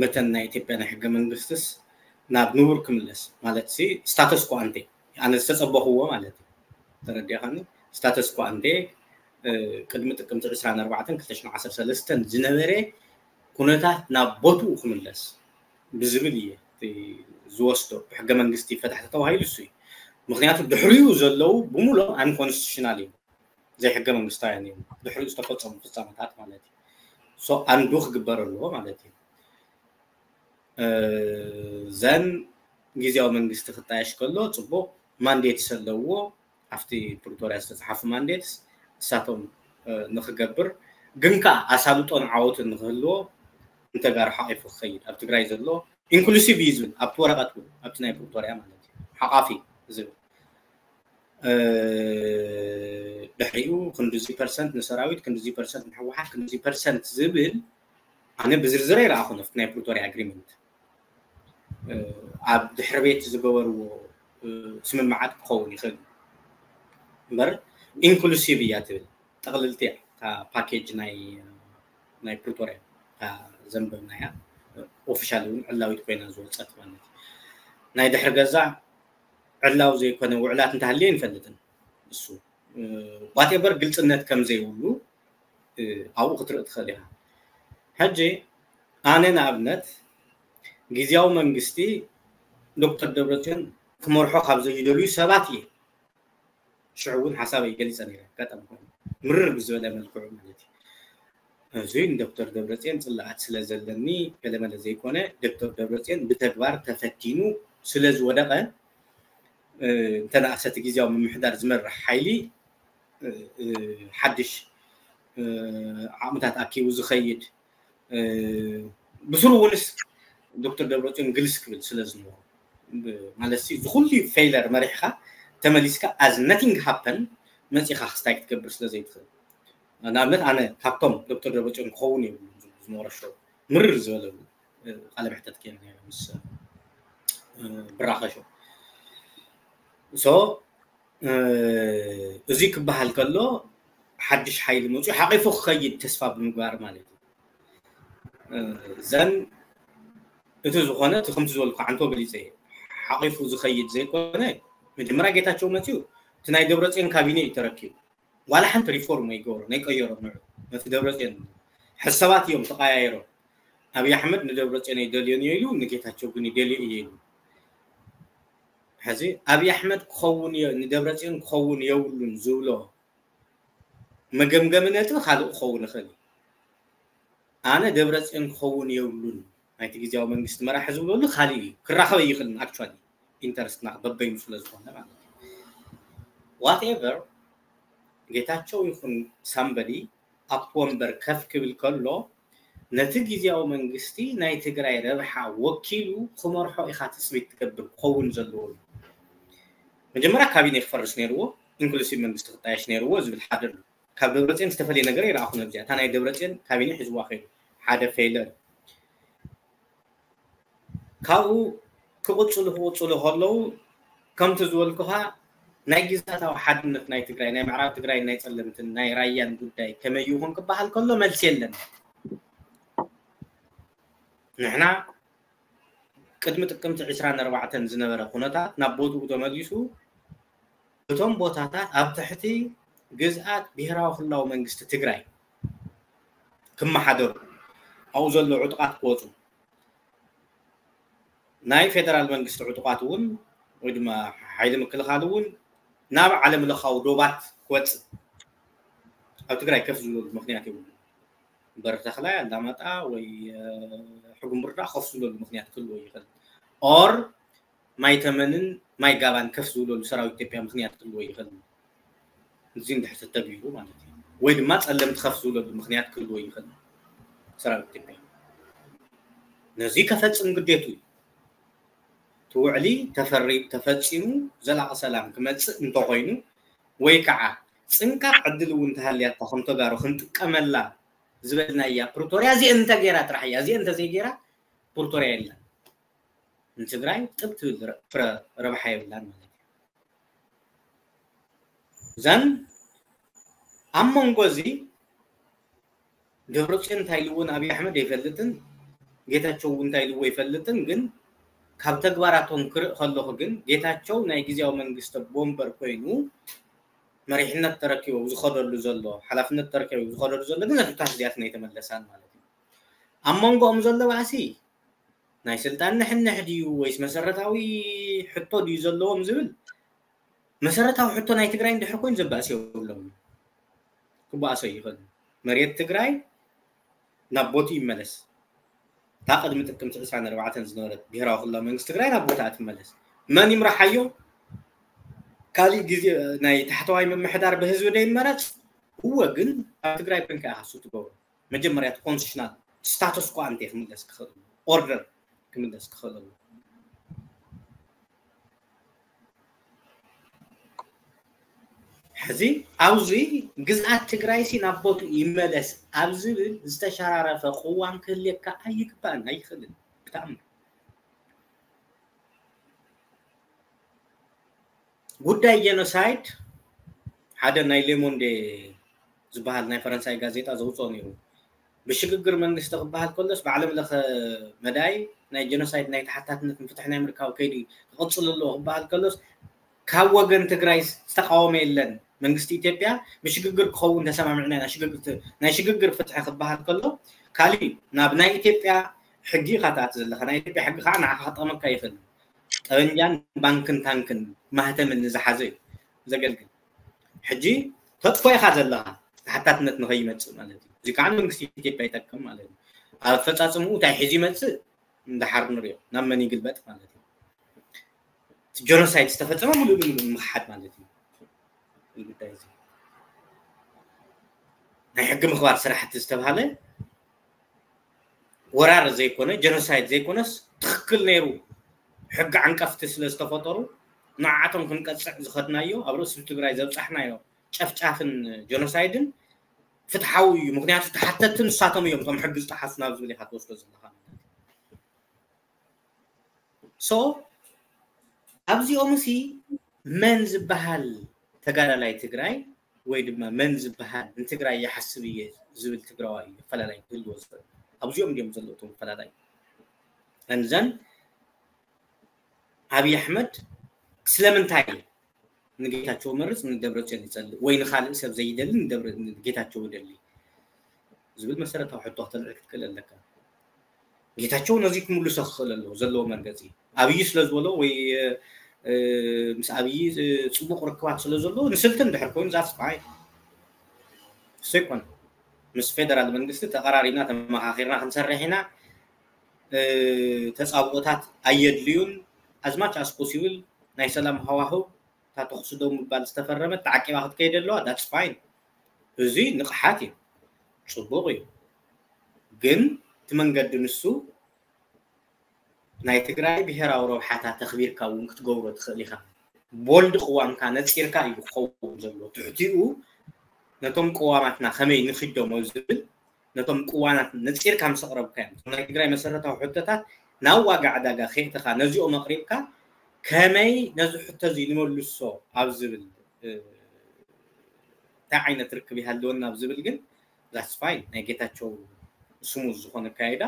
መተን ናይ ኢትዮጵያ ናይ ሕገ መንግስትስ ናብ ንቡር ክምለስ ማለት ሲ ስታተስ ኮ ኣንቴ ኣነ ዝተፀበኽዎ ማለት እዩ። ተረዲእካኒ? ስታተስ ኮ ኣንቴ ቅድሚ ጥቅምቲ ዕስራን ኣርባዕተን ክልተ ሽሕን ዓሰርተ ሰለስተን ዝነበረ ኩነታት ናብ ቦትኡ ክምለስ ብዝብል እየ ዝወስዶ። ብሕገ መንግስቲ ፈታሕቲ ተባሂሉ እሱ እዩ። ምክንያቱ ድሕሪኡ ዘለዉ ብምሎም ኣንኮንስቲቱሽናል እዮም፣ ዘይሕገ መንግስታውያን እዮም ድሕሪኡ ዝተፈፀሙ ፍፃመታት ማለት እዩ። ሶ ኣንዱ ክግበር ኣለዎ ማለት እዩ። ዘን ግዜያዊ መንግስቲ ክጣየሽ ከሎ ፅቡቅ ማንዴትስ ኣለዎ። ኣብቲ ፕሪቶርያ ዝተፅሓፉ ማንዴትስ እሳቶም ንክገብር ግን ከዓ ኣሳልጦን ዓወትን ንክህልዎ ንተጋሩ ሓቂፉ ክኸይድ ኣብ ትግራይ ዘሎ ኢንክሉሲቭ እዩ ዝብል ኣብቲ ወረቀት እውን ኣብቲ ናይ ፕሪቶርያ ማለት እዩ ሓቃፊ ዝብል ድሕሪኡ ክንድዚ ፐርሰንት ንሰራዊት ክንድዚ ፐርሰንት ንሕወሓት ክንድዚ ፐርሰንት ዝብል ኣነ ብዝርዝር ኣይረኣኹን ኣብቲ ናይ ፕሪቶርያ ኣግሪመንት ኣብ ድሕሪ ቤት ዝገበርዎ ስምምዓት ክኸውን ይኽእል እምበር ኢንክሉሲቭ እያ ትብል ጠቕልልቲ እያ እታ ፓኬጅ ናይ ናይ ፕሪቶርያ እታ ዘንበብናያ ኦፊሻል እውን ዕላዊት ኮይና ዝወፀት ማለት እዩ። ናይ ድሕሪ ገዛ ዕላዊ ዘይኮነ ውዕላት እንተሃልየ ይንፈልጥን እሱ ዋቴቨር ግልፅነት ከም ዘይብሉ ኣብኡ ክትርኢ ትኽእል ኢኻ። ሕጂ ኣነ ንኣብነት ግዜያዊ መንግስቲ ዶክተር ደብረፅዮን ክመርሖ ካብ ዘይደልዩ ሰባት እየ። ሽዑ እውን ሓሳበይ ገሊፀ ነይረ። ኣጋጣሚ ኮይኑ ምርር ብዝበለ መልክዑ ማለት እዩ። እዚ ንዶክተር ደብረፅዮን ፅላኣት ስለ ዘለኒ ገለመለ ዘይኮነ፣ ዶክተር ደብረፅዮን ብተግባር ተፈቲኑ ስለ ዝወደቐ፣ እንተነኣሰቲ ግዜያዊ ምምሕዳር ዝመርሕ ሓይሊ ሓድሽ ዓቕምታት ኣኪቡ ዝኸይድ፣ ብስሩ እውንስ ዶክተር ደብረፅዮን ግልስ ክብል ስለ ዝነበሩ፣ ማለት እዚ ኩሉ ፌይለር መሪሕካ ተመሊስካ as nothing happen መፂኻ ክስታይ ክትገብር ስለ ዘይትኽእል። ንኣብነት ኣነ ካብቶም ዶክተር ደብረፅዮን ክኸውን እየ ዝመረሾ ምርር ዝበለሉ ቃለ መሕተት ከ ምስ ብራኸሾ so እዚ ክበሃል ከሎ ሓድሽ ሓይሊ መፅኡ ሓቂፉ ክኸይድ ተስፋ ብምግባር ማለት እዩ። ዘን እቲ ዝኾነ እቲ ከምቲ ዝበልኩ ዓንቶ ገሊፀ እየ። ሓቂፉ ዝኸይድ ዘይኮነ መጀመርያ ጌታቸው መፅኡ እቲ ናይ ደብረፅዮን ካቢኔ እዩ ተረኪቡ። ዋላ ሓንቲ ሪፎርም ኣይገበሮ ናይ ቀየሮ ንዑ ነቲ ደብረፅዮን ሕሰባት እዮም ተቀያየሮ። ኣብይ ኣሕመድ ንደብረፅዮን ኣይደልዮን እየ ኢሉ፣ ንጌታቸው ግን ይደልዮ እየ ኢሉ። ሕዚ ኣብይ ኣሕመድ ክኸውን እየ ንደብረፅዮን ክኸውን የብሉን ዝብሎ መገምገሚ ነጥቢ ካልእ ክኸውን ይኽእል እዩ። ኣነ ደብረፅዮን ክኸውን የብሉን ናይቲ ግዜያዊ መንግስቲ መራሒ ዝብለሉ ካልእ እዩ። ክራኸብ ኣይኽእልን። ኣክቹዋሊ ኢንተረስትና በበይኑ ስለ ዝኾነ ማለት እዩ። ዋትኤቨር ጌታቸው ይኹን ሳምበዲ ኣብቲ ወንበር ከፍ ክብል ከሎ ነቲ ግዜያዊ መንግስቲ ናይ ትግራይ ረብሓ ወኪሉ ክመርሖ ኢኻ ትፅቢት ትገብር ክኸውን ዘለዎ እዩ። መጀመርያ ካቢኔ ክፈርስ ነይርዎ፣ ኢንክሉሲቭ መንግስቲ ክጣየሽ ነይርዎ ዝብል ሓደ ኣሎ። ካብ ደብረፅዮን ዝተፈለየ ነገር ይረኣኹ ነብዚኣ። እታ ናይ ደብረፅዮን ካቢኔ ሒዝዋ ከይዱ ሓደ ፌይለር ካብኡ ክቕፅሉ ክቕፅሉ ከለዉ ከምቲ ዝበልኩኻ ናይ ግዝኣታዊ ሓድነት ናይ ትግራይ ናይ ምዕራብ ትግራይ ናይ ፀለምትን ናይ ራያን ጉዳይ ከመይ ይኹን ክበሃል ከሎ መልሲ የለን። ንሕና ቅድሚ ጥቅምቲ ዕስራን ኣርባዕተን ዝነበረ ኩነታት ናብ ቦትኡ ተመሊሱ እቶም ቦታታት ኣብ ትሕቲ ግዝኣት ብሄራዊ ክልላዊ መንግስቲ ትግራይ ክመሓደሩ ኣብኡ ዘሎ ዕጡቓት ክወፁ ናይ ፌደራል መንግስቲ ዕጡቓት እውን ወይ ድማ ሓይሊ ምክልኻል እውን ናብ ዓለም ለኻዊ ዶባት ክወፅእ ኣብ ትግራይ ከፍ ዝብለሉ ምክንያት የብሉ። በሪ ተኽላይ ኣላማጣ ወይ ሕጉምብርዳ ከፍ ዝብለሉ ምክንያት ክህልዎ ይኽእል። ኦር ማይ ተመንን ማይ ጋባን ከፍ ዝብለሉ ሰራዊት ኢትዮጵያ ምክንያት ክህልዎ ይኽእል። እዚ እንድሕር ተተግቢሩ ማለት እዩ። ወይ ድማ ፀለምቲ ከፍ ዝብለሉ ምክንያት ክህልዎ ይኽእል ሰራዊት ኢትዮጵያ። ነዚ ከፈፅም ግዴቱ እዩ። እቲ ውዕሊ ተፈሪ ተፈፂሙ ዘላቂ ሰላም ክመፅእ እንተኮይኑ ወይ ከዓ ፅንቃቅ ዕድል እውን ተሃልያታ ከም ተጋሩ ክንጥቀመላ ዝበልናያ ፕሪቶርያ እዚአ እንተገይራ ጥራሕ እያ። እዚአ እንተዘይገይራ ፕሪቶርያ የለን። ንትግራይ ጥብ ትብል ፍረ ረብሓ የብላን ማለት እዩ። ዘን ኣብ መንጎ እዚ ደብረፅዮን እንታይ ኢልዎ ንኣብይ ኣሕመድ ኣይፈልጥን፣ ጌታቸው እውን እንታይ ኢልዎ ኣይፈልጥን። ግን ካብ ተግባራቶም ክርኢ ከለኹ ግን ጌታቸው ናይ ግዜያዊ መንግስቲ ቦምበር ኮይኑ መሪሕነት ተረኪቡ ዝኸደሉ ዘሎ ሓላፍነት ተረኪቡ ዝኸደሉ ዘሎ ግን ነጥብታት እዚኣተን ኣይተመለሳን ማለት እዩ። ኣብ መንጎኦም ዘሎ ባእሲ ናይ ስልጣን ንሕንሕ ድዩ ወይስ መሰረታዊ ሕቶ ድዩ ዘለዎም ዝብል መሰረታዊ ሕቶ ናይ ትግራይ እንድሕር ኮይኑ ዘባእስ የብሎም። ክበኣሶ ይኽእል። መሬት ትግራይ ናብ ቦቱ ይመለስ። እታ ቅድሚ ጥቅምቲ ዕስራን ኣርባዕተን ዝነበረት ብሄራዊ ክልላዊ መንግስቲ ትግራይ ናብ ቦታኣ ትመለስ። መን ይምርሓዮ? ካሊእ ግዜ ናይ ታሕተዋይ ምምሕዳር ብህዝቢ ዶ ይመረፅ? እወ፣ ግን ኣብ ትግራይ ብንካ ኢኻ እሱ ትገብሮ። መጀመርያ እቲ ኮንስቲቱሽናል ስታተስ ኳ እንተ ክምለስ ክኽእል ኦርደር ክምለስ ክኽእል ኣሎ። ሕዚ ኣብዚ ግዝኣት ትግራይሲ ናብ ቦቱ ይመለስ ኣብ ዝብል ዝተሸራረፈ ቅዋም ክህልየካ ኣይግባእን ኣይኽእልን ብጣዕሚ። ጉዳይ ጀኖሳይድ ሓደ ናይ ሌሞንዴ ዝበሃል ናይ ፈረንሳይ ጋዜጣ ዘውፅኦ ነይሩ። ብሽግግር መንግስቲ ክበሃል ከሎስ ብዓለም ለኸ መዳይ ናይ ጀኖሳይድ ናይ ተሓታትነት ንፍትሒ ናይ ምርካብ ከይዲ ክቕፅል ኣለዎ ክበሃል ከሎስ ካብ ወገን ትግራይ ዝተቃወመ የለን። መንግስቲ ኢትዮጵያ ብሽግግር ክኸውን ተሰማሚዕና ኢና፣ ናይ ሽግግር ፍትሒ ክበሃል ከሎ ካሊእ ናብ ናይ ኢትዮጵያ ሕጊ ኢኻ ትኣቲ ዘለኻ። ናይ ኢትዮጵያ ሕጊ ከዓ ንዓኻ ክጠቕመካ ይኽእል። ጠበንጃን ባንክን ታንክን ማህተምን ንዝሓዘ እዩ ዘገልግል። ሕጂ ተጥፎ ኢኻ ዘለኻ፣ ተሓታትነት ንኸይመፅእ ማለት እዩ። እዚ ከዓ ንመንግስቲ ኢትዮጵያ ይጠቅም ማለት እዩ። ኣብ ኣፈፃፅምኡ እንታይ ሒዙ ይመፅእ እንዳሓር ንሪኦ፣ ናብ መን ይግልበጥ ማለት እዩ። እቲ ጀኖሳይድ ዝተፈፀመ ሙሉእ ንሙሉእ ንምኽሓድ ማለት እዩ። እዚ ጉዳይ እዚ ናይ ሕጊ ምኽባር ስራሕቲ ዝተባሃለ ወራር ዘይኮነ፣ ጀኖሳይድ ዘይኮነስ፣ ትኽክል ነይሩ፣ ሕጊ ዓንቀፍቲ ስለ ዝተፈጠሩ ንዓቶም ክንቀፅዕ ዝኸድናዮ፣ ኣብ ርእሲ ትግራይ ዘብፃሕናዮ ጨፍጫፍን ጀኖሳይድን ፍትሓዊ እዩ። ምክንያቱ ተሓተትቲ ንሳቶም እዮም፣ እቶም ሕጊ ዝጠሓሱ ናብ ዝብል ኢኻ ትወስዶ ዘለኻ። ሶ ኣብዚኦም ሲ መን ዝበሃል ተጋዳላይ ትግራይ ወይ ድማ መን ዝበሃል ንትግራይ ይሓስብ እየ ዝብል ትግራዋይ እዩ ኣፈላላይ ክህልዎ ዝኽእል? ኣብዚኦም ድዮም ዘለዉ እቶም ኣፈላላይ? And then ኣብይ ኣሕመድ ስለምንታይ ንጌታቸው መርፅ ንደብረፅዮን ይፀልእ ወይ ንኻልእ ሰብ ዘይደሊ ንደብረ-፣ ንጌታቸው ይደሊ ዝብል መሰረታዊ ሕቶ ክተልዕል ክትክእል ኣለካ። ጌታቸው ነዚ ክምልሶ ክኽእል ኣለዎ፣ ዘለዎ መርገፂ። ኣብይ ስለ ዝበሎ ወይ፣ እ፣ ምስ ኣብይ፣ እ፣ ፅቡቕ ርክባት ስለ ዘለዎ ንስልቲ እንድሕር ኮይኑ that's fine። እሱ ይኮን ምስ ፌደራል መንግስቲ ተቐራሪብና ተመኻኺርና ክንሰርሕ ኢና። እ፣ ተፃብኦታት ኣየድልዩን። As much as possible ናይ ሰላም ሃዋህው፣ እታ ተኹሲ ደው ምባል ዝተፈረመት ተዓቂባ ክትከይድ ኣለዋ፣ that's fine። እዚ ንቕሓት እዩ፣ ፅቡቕ እዩ። ግን እቲ መንገዲ ንሱ ናይ ትግራይ ብሄራዊ ረብሓታት ተኽቢርካ እውን ክትገብሮ ትኽእል ኢኻ። ቦልድ ቅዋምካ ነፂርካ እዩ ክኸውን ዘሎ። ትሕቲኡ ነቶም ቅዋማትና ከመይ ንኺዶም ኣብ ዝብል፣ ነቶም ቅዋማት ነፂርካ ምስ ኣቕረብካዮም፣ እቶም ናይ ትግራይ መሰረታዊ ሕቶታት ናብ ዋጋ ዕዳጋ ከየእተኻ ነዚኦም ኣቕሪብካ ከመይ ነዚ ሕቶ እዚ ንመልሶ ኣብ ዝብል፣ እ፣ እንታይ ዓይነት ርክብ ይሃልወና ኣብ ዝብል ግን that's fine። ናይ ጌታቸው ስሙዝ ዝኾነ ኣካይዳ፣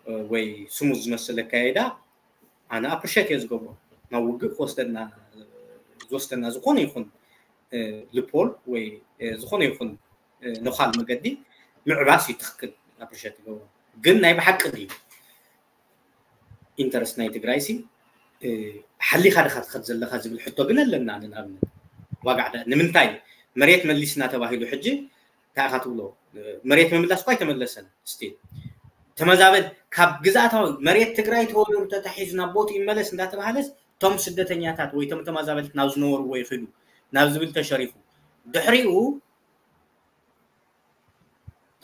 እ፣ ወይ ስሙዝ ዝመስል ኣካይዳ ኣነ ኣፕሪሼት እየ ዝገብሮ። ናብ ውግእ ክወስደና፣ ዝወስደና ዝኾነ ይኹን፣ እ፣ ልፖል ወይ፣ እ፣ ዝኾነ ይኹን፣ እ፣ ነዃል መገዲ ምዕባስ እዩ ትኽክል፣ ኣፕሪሼት ይገብሮ። ግን ናይ ብሓቂ ድዩ ኢንተረስት ናይ ትግራይ ሲ፣ እ፣ ሓሊኻ ድኻ ትኸድ ዘለኻ ዝብል ሕቶ ግን ኣለና። ንኣብነት ዋጋ ዕዳ ንምንታይ መሬት መሊስና ተባሂሉ ሕጂ እንታይ ኢኻ ትብሎ? መሬት ምምላስ እኳ ኣይተመለሰን። ስቲል ተመዛበል ካብ ግዝኣታዊ መሬት ትግራይ ተወሪሩ ተታሒዙ ናብ ቦትኡ ይመለስ እንዳተባሃለስ እቶም ስደተኛታት ወይ እቶም ተመዛበልቲ ናብ ዝነበርዎ ይኽዱ ናብ ዝብል ተሸሪፉ ድሕሪኡ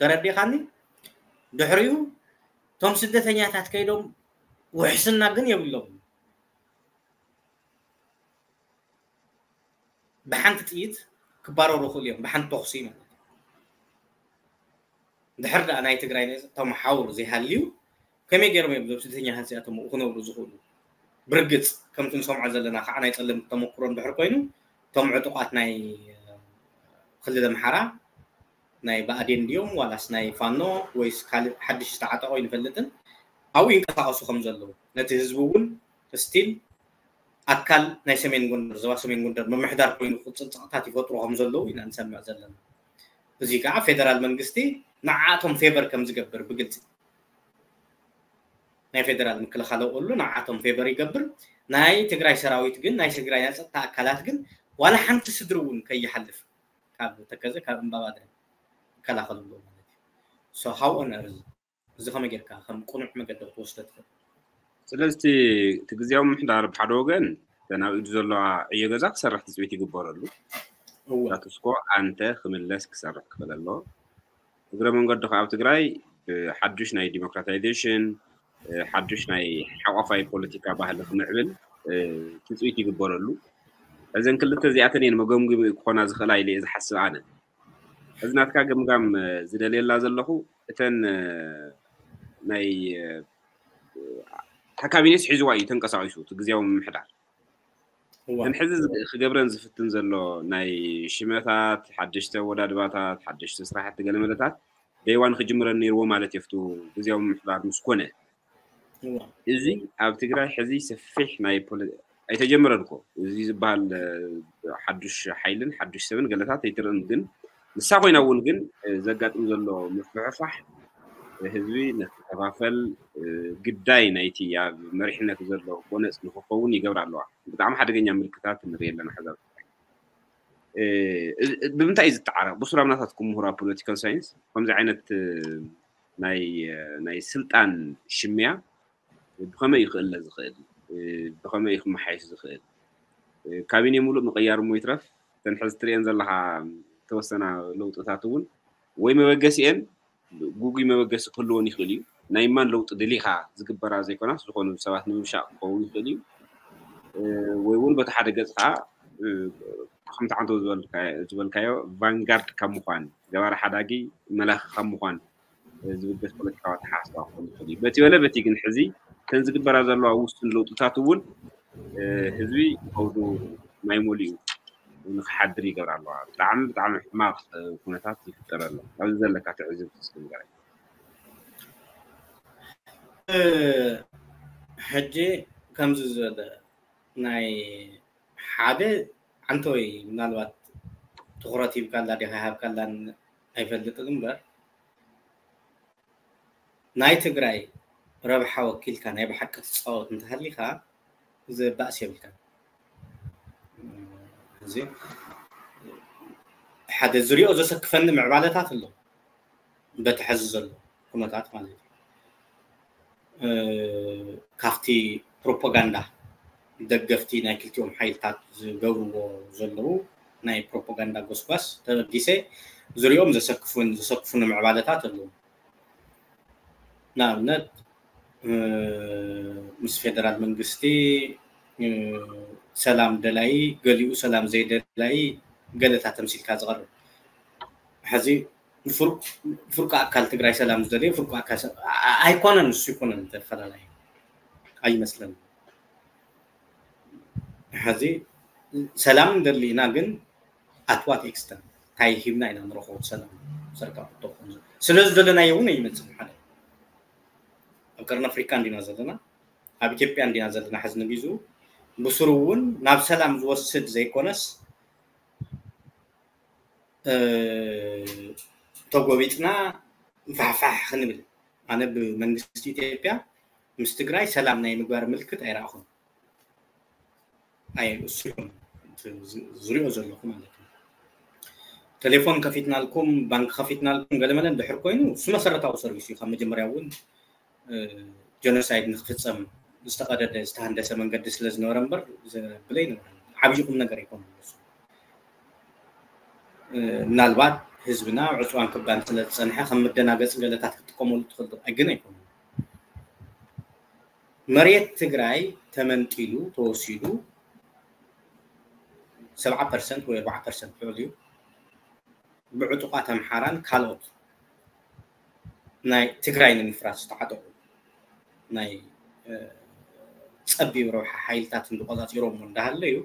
ተረዲኻኒ? ድሕሪኡ እቶም ስደተኛታት ከይዶም ውሕስና ግን የብሎም። ብሓንቲ ጥይት ክባረሩ ይኽእሉ እዮም፣ ብሓንቲ ተኹሲ ማለት እዩ። ድሕር ደኣ ናይ ትግራይ ነዚ ተመሓውር ዘይሃልዩ ከመይ ገይሮም እዮም እዞም ስደተኛታት እዚኣቶም ኣብኡ ክነብሩ ዝኽእሉ? ብርግፅ ከምቲ ንሰምዖ ዘለና ከዓ ናይ ፀለምቲ ተመክሮ እንድሕር ኮይኑ እቶም ዕጡቓት ናይ ክልል ኣምሓራ ናይ ብኣዴን ድዮም ዋላስ ናይ ፋኖ ወይስ ካልእ ሓድሽ ዝተዓጠቑ ኣይንፈልጥን፣ ኣብኡ ይንቀሳቐሱ ከም ዘለዉ ነቲ ህዝቢ እውን ስቲል ኣካል ናይ ሰሜን ጎንደር፣ ዞባ ሰሜን ጎንደር ምምሕዳር ኮይኑ ክቕፅል ፀቕጥታት ይፈጥሩ ከም ዘለዉ ኢና ንሰምዕ ዘለና። እዚ ከዓ ፌደራል መንግስቲ ንዓኣቶም ፌቨር ከም ዝገብር ብግልፂ ናይ ፌደራል ምክልኻል ኣውዕሉ ንዓኣቶም ፌቨር ይገብር። ናይ ትግራይ ሰራዊት ግን ናይ ትግራይ ናይ ፀጥታ ኣካላት ግን ዋላ ሓንቲ ስድሪ እውን ከይሓልፍ ካብ ተከዘ ካብ እምባባደ ይከላኸልሉ ማለት እዩ። So how on earth እዚ ከመይ ጌርካ ከም ቅኑዕ መገዲ ክትወስዶ ትኽእል? ስለዚ እቲ ግዝያዊ ምምሕዳር ብሓደ ወገን እተን ኣብ ኢዱ ዘለዋ ዕዮ ገዛ ክሰርሕ ትፅቢት ይግበረሉ። እወ። ስታቱስኮ ኣንተ ክምለስ ክሰርሕ ክኽእል ኣለዎ። እግረ መንገዱ ከዓ ኣብ ትግራይ ብሓዱሽ ናይ ዲሞክራታይዜሽን፣ እ፣ ሓዱሽ ናይ ሓቋፋይ ፖለቲካ ባህሊ ክምዕብል፣ እ፣ ትፅቢት ይግበረሉ። እዘን ክልተ እዚኣተን እየን መገምገሚ ክኾና ዝኽእላ ኢለ እየ ዝሓስብ ኣነ። እዚ ናትካ ገምጋም፣ እ፣ ዝደልየላ ዘለኹ እተን፣ እ፣ ናይ፣ እ፣ እታ ካቢኔስ ሒዝዋ እዩ ተንቀሳቒሱ እቲ ግዝያዊ ምምሕዳር። እዋ። እተን ሕዚ ዝ-፣ ክገብረን ዝፍትን ዘሎ ናይ ሽመታት፣ ሓደሽቲ ኣወዳድባታት፣ ሓደሽቲ ስራሕቲ ገለመለታት ደይዋን ክጅምረን ነይርዎ ማለት እዩ፣ ኣብቲ ግዝያዊ ምምሕዳር ምስ ኮነ። እዋ። እዚ ኣብ ትግራይ ሕዚ ሰፊሕ ናይ ፖለ-፣ ኣይተጀመረን እኮ። እዚ ዝበሃል፣ እ፣ ሓዱሽ ሓይልን ሓዱሽ ሰብን ገለታት ኣይትርእን፣ ግን ንሳ ኮይና እውን ግን፣ እ፣ ዘጋጥም ዘሎ ምፍሕፋሕ፣ እ፣ ህዝቢ ነቲ ከፋፈል ግዳይ ናይቲ ኣብ መሪሕነት ዘሎ ጎነፅ ንክኸውን ይገብራ ኣለዋ። ብጣዕሚ ሓደገኛ ምልክታት ንርኢ ኣለና። ሕዛ ብምንታይ እዩ ዝጠዓረ? ብሱራም ናታትኩም ምሁራ ፖለቲካል ሳይንስ ከምዚ ዓይነት ናይ ናይ ስልጣን ሽምያ ብኸመይ እዩ ክእለ ዝኽእል? ብኸመይ እዩ ክመሓየሽ ዝኽእል? ካቢኔ ሙሉእ ምቕያር እሞ ይትረፍ፣ እተን ሕዚ ትሪኤን ዘለኻ ተወሰና ለውጥታት እውን ወይ መበገሲኤን ግጉይ መበገሲ ክህልወን ይኽእል እዩ። ናይ ማን ለውጢ ደሊኻ ዝግበራ ዘይኮናስ ዝኾኑ ሰባት ንምብሻቕ ክኸውን ይኽእል እዩ። ወይ እውን በቲ ሓደ ገፅ ከዓ ከምቲ ዓንቶ ዝበልካዮ ቫንጋርድ ካብ ምዃን፣ ገባሪ ሓዳጊ መላኺ ካብ ምዃን ዝብገስ ፖለቲካዊ ኣተሓሳስባ ክኸውን ይኽእል እዩ። በቲ በለ በቲ ግን ሕዚ እተን ዝግበራ ዘለዋ ውሱን ለውጥታት እውን ህዝቢ ከውዱ ማይ መሊኡ ንክሓድር ይገብር ኣለዋ። ብጣዕሚ ብጣዕሚ ሕማቕ ኩነታት ይፍጠር ኣሎ። ኣብዚ ዘለካ ትዕዝብቲ እስኪ ንገረኝ። ሕጂ ከምዚ ዝበለ ናይ ሓደ ዓንተወይ ምናልባት ትኹረት ሂብካላ ዲኻ ሃብካላን ኣይፈልጥን እምበር ናይ ትግራይ ረብሓ ወኪልካ ናይ ብሓቂ ትፃወት እንተሃሊካ ዘባእስ የብልካ። እዚ ሓደ ዝሪኦ ዘሰክፈኒ ምዕባለታት ኣሎ በቲ ሕዚ ዘሎ ኩነታት ማለት እዩ። ካብቲ ፕሮፓጋንዳ ደገፍቲ ናይ ክልቲኦም ሓይልታት ዝገብርዎ ዘለዉ ናይ ፕሮፓጋንዳ ጎስጓስ ተበጊሰ ዝሪኦም ዘሰክፉን ዘሰክፉን ምዕባለታት ኣለዉ። ንኣብነት ምስ ፌደራል መንግስቲ ሰላም ደላይ ገሊኡ ሰላም ዘይደላይ ገለታት ተምሲልካ ዝቐርብ ሕዚ ፍርቁ ኣካል ትግራይ ሰላም ዝደለየ ፍርቁ ኣካል ኣይኮነን። እሱ ይኮነን ተፈላላይ ኣይመስለን። ሕዚ ሰላም እንደሊ ኢና ግን ኣትዋት ኤክስተን እንታይ ሂብና ኢና ንረኽቦ ሰላም ሰርካ ክትኾን ስለ ዝደለናዮ እውን ኣይመፅን ሓደ ኣብ ቀርኒ ኣፍሪካ እንዲና ዘለና ኣብ ኢትዮጵያ እንዲና ዘለና ሕዚ ንጊዙ ብስሩ እውን ናብ ሰላም ዝወስድ ዘይኮነስ ተጎቢጥና ፋሕፋሕ ክንብል ኣነ ብመንግስቲ ኢትዮጵያ ምስ ትግራይ ሰላም ናይ ምግባር ምልክት ኣይረኣኹን። ኣይ እሱ ዝሪኦ ዘለኹ ማለት እዩ። ቴሌፎን ከፊትናልኩም፣ ባንክ ከፊትናልኩም ገለመለ እንድሕር ኮይኑ እሱ መሰረታዊ ሰርቪስ እዩ። ካብ መጀመርያ እውን ጀኖሳይድ ንክፍፀም ዝተቐደደ ዝተሃንደሰ መንገዲ ስለ ዝነበረ እምበር ዘብል ኣይነበረን። ዓብዪ ቁም ነገር ኣይኮነን። ምናልባት ህዝብና ዕፅዋን ክባን ስለ ዝፀንሐ ከም መደናገፂ ገለታት ክትጥቀመሉ ትኽእል ግን ኣይኮነን። መሬት ትግራይ ተመንጢሉ ተወሲዱ ሰብዓ ፐርሰንት ወይ ኣርባዓ ፐርሰንት ልዕሊኡ ብዕጡቓት ኣምሓራን ካልኦት ናይ ትግራይ ንምፍራስ ዝተዓጠቑ ናይ ፀቢብ ረብሓ ሓይልታት እንተቆፃፂሮሞ እንዳሃለዩ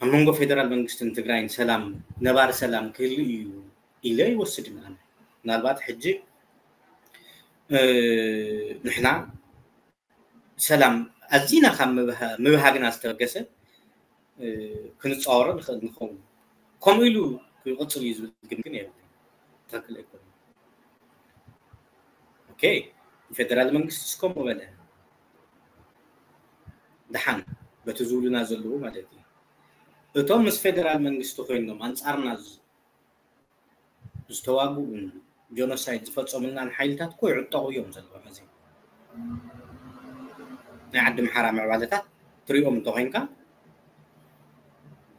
ኣብ መንጎ ፌደራል መንግስትን ትግራይን ሰላም ነባሪ ሰላም ክህሉ እዩ ኢለ ይወስድን ኣነ። ምናልባት ሕጂ ንሕና ሰላም ኣዚና ካብ ምብሃግና ዝተበገሰ ክንፃወሮ ንኽእል ንኸውን። ከምኡ ኢሉ ክቕፅል እዩ ዝብል ግን ግን የብልን። ትኽክል ኣይኮነን። ኦኬ፣ ፌደራል መንግስቲ እስከምኡ በለ ደሓን በቲ ዝብሉና ዘለዉ ማለት እዩ። እቶም ምስ ፌደራል መንግስቲ ኮይኖም ኣንፃርና ዝተዋግኡን ጀኖሳይድ ዝፈፀሙልናን ሓይልታት እኮ ይዕጠቑ እዮም ዘለዉ። ሕዚ ናይ ዓዲ ምሓራ ምዕባለታት ትሪኦም እንተኮይንካ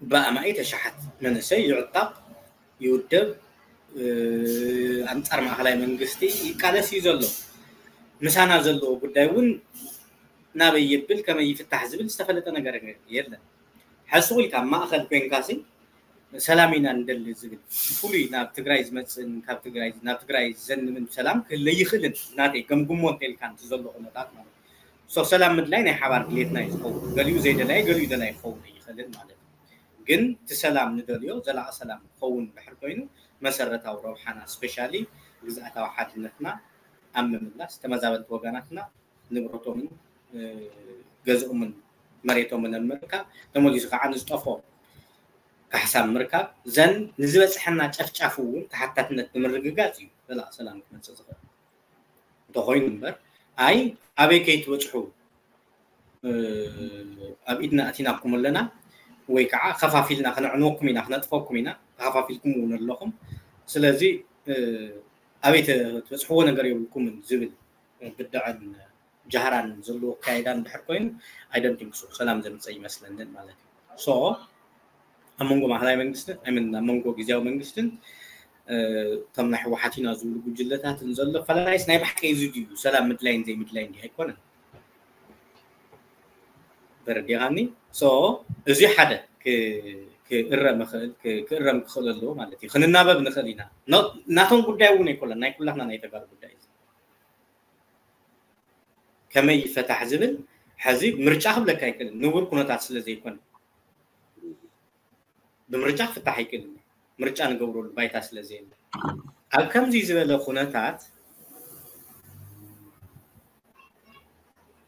ብኣማኢት ኣሽሓት መንእሰይ ይዕጠቕ፣ ይውደብ፣ ኣንፃር ማእኸላይ መንግስቲ ይቃለስ እዩ ዘሎ። ምሳና ዘለዎ ጉዳይ እውን ናበይ ይብል ከመይ ይፍታሕ ዝብል ዝተፈለጠ ነገር የለን። ሕዚ ኢልካ ኣብ ማእኸል ኮይንካ ሲ ሰላም ኢና ንደሊ ዝብል ብፍሉይ ናብ ትግራይ ዝመፅእን ካብ ትግራይ ናብ ትግራይ ዘንምን ሰላም ክህለ ይኽእልን ናተይ ገምግሞ እንተኢልካ እቲ ዘሎ ኩነታት ማለት እዩ። ሰላም ምድላይ ናይ ሓባር ድሌትና እዩ ዝኸውን። ገሊኡ ዘይደላይ ገሊኡ ደላይ ክኸውን ይኽእልን ማለት እዩ። ግን እቲ ሰላም ንደልዮ ዘላቂ ሰላም ክኸውን ድሕር ኮይኑ መሰረታዊ ረብሓና ስፔሻሊ ግዝኣታዊ ሓድነትና ኣብ ምምላስ ተመዛበልቲ ወገናትና ንብረቶምን ገዝኦምን መሬቶምን ኣብ ምርካብ ተመሊሱ ከዓ ንዝጠፍኦ ካሕሳ ምርካብ ዘን ንዝበፅሐና ጨፍጫፍ እውን ተሓታትነት ንምርግጋፅ እዩ ዘላቂ ሰላም ክመፅእ ዝኽእል። እንተኾይኑ እምበር፣ ኣይ ኣበይ ከይትበፅሑ ኣብ ኢድና ኣቲናኩም ኣለና ወይ ከዓ ከፋፊልና ክነዕንወኩም ኢና ክነጥፈኩም ኢና ተኸፋፊልኩም እውን ኣለኹም። ስለዚ ኣበይ ትበፅሕዎ ነገር የብልኩምን ዝብል ብድዐን ጃህራን ዘለዎ ኣካይዳ እንድሕር ኮይኑ ኣይደንቲንክሱ ሰላም ዘምፀ ይመስለንን ማለት እዩ። ሶ ኣብ መንጎ ማእኸላይ መንግስትን ኣይምን ኣብ መንጎ ግዜያዊ መንግስትን እቶም ናይ ህወሓት ኢና ዝብሉ ጉጅለታትን ዘሎ ፈላላይስ ናይ ብሓቂ እዚ ድዩ ሰላም ምድላይን ዘይምድላይን ድዩ ኣይኮነን። በረዲኻኒ ሶ እዚ ሓደ ክእረም ክኽእል ክእረም ክኽእል ኣለዎ ማለት እዩ። ክንናበብ ንኽእል ኢና። ናቶም ጉዳይ እውን ኣይኮነን ናይ ኩላትና ናይ ተጋሩ ጉዳይ እዩ። ከመይ ይፈታሕ ዝብል ሕዚ ምርጫ ክብለካ ኣይክእልን ንቡር ኩነታት ስለ ዘይኮነ ብምርጫ ክፍታሕ ኣይክእልን። ምርጫ ንገብረሉ ባይታ ስለ ዘየለ ኣብ ከምዚ ዝበለ ኩነታት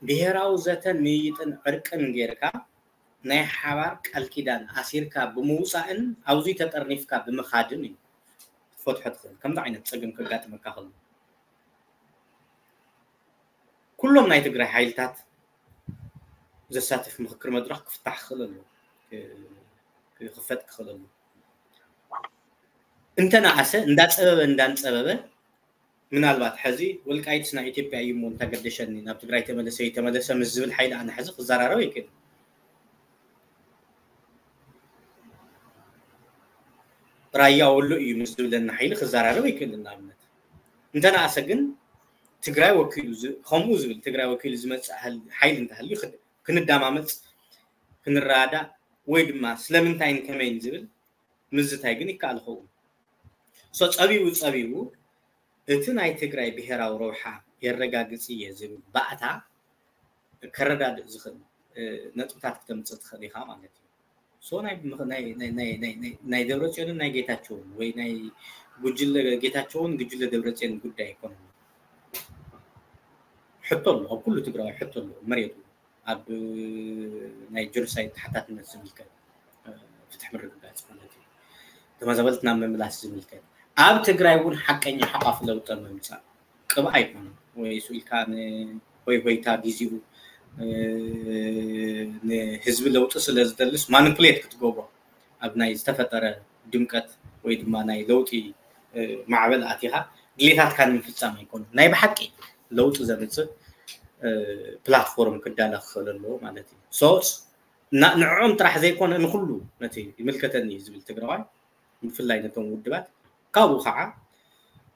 ብሄራዊ ዘተን ምይይጥን ዕርቅን ጌርካ ናይ ሓባር ቃል ኪዳን ኣሲርካ ብምውፃእን ኣብዚ ተጠርኒፍካ ብምኻድን እዩ ክትፈትሖ ትኽእል። ከምዚ ዓይነት ፀገም ከጋጥመካ ከሎ ኩሎም ናይ ትግራይ ሓይልታት ዘሳትፍ ምኽክር መድረኽ ክፍታሕ ክኽእል ኣለዎ፣ ክኽፈጥ ክኽእል ኣለዎ። እንተነኣሰ እንዳፀበበ እንዳንፀበበ ምናልባት ሕዚ ወልቃይትስ ናይ ኢትዮጵያ እዩ እሞ እንታገደሸኒ ናብ ትግራይ ተመለሰ ይተመለሰ ምስ ዝብል ሓይሊ ኣነ ሕዚ ክዘራረብ ኣይክእልን። ራያ ወሎ እዩ ምስ ዝብለኒ ሓይሊ ክዘራረብ ኣይክእልን። ንኣብነት እንተነኣሰ ግን ትግራይ ወኪሉ ከምኡ ዝብል ትግራይ ወኪሉ ዝመፅእ ሓይሊ እንተሃልዩ ክንዳማመፅ ክንረዳእ ወይ ድማ ስለምንታይን ከመይን ዝብል ምዝታይ ግን ይከኣል ኸውን። ሶ ፀቢቡ ፀቢቡ እቲ ናይ ትግራይ ብሄራዊ ረብሓ የረጋግፅ እየ ዝብል ባእታ ከረዳድእ ዝኽእል ነጥብታት ክተምፅእ ትኽእል ኢኻ ማለት እዩ። ሶ ናይ ደብረፅዮንን ናይ ጌታቸውን ወይ ናይ ጉጅለ ጌታቸውን ጉጅለ ደብረፅዮን ጉዳይ ኣይኮነን። ሕቶ ኣሎ ኣብ ኩሉ ትግራዋይ ሕቶ ኣሎ መሬቱ ኣብ ናይ ጀኖሳይድ ተሓታትነት ዝምልከት ፍትሒ ምርግጋፅ ማለት እዩ። ተመዛበልቲ ናብ ምምላስ ዝምልከት ኣብ ትግራይ እውን ሓቀኛ ሓቋፍ ለውጢ ምምፃእ ቅብኣ ኣይኮነን ወይ ስኢልካ ንሆይ ሆይታ ግዜኡ ንህዝቢ ለውጢ ስለ ዝደልስ ማኒፕሌት ክትገብሮ ኣብ ናይ ዝተፈጠረ ድምቀት ወይ ድማ ናይ ለውጢ ማዕበል ኣቲኻ ድሌታትካ ንምፍፃም ኣይኮነን። ናይ ብሓቂ ለውጢ ዘምፅእ ፕላትፎርም ክዳለ ክኽእል ኣለዎ ማለት እዩ። ሶ ንዕኦም ጥራሕ ዘይኮነ ንኩሉ ነቲ ይምልከተኒ ዝብል ትግራዋይ ብፍላይ ነቶም ውድባት ካብኡ ከዓ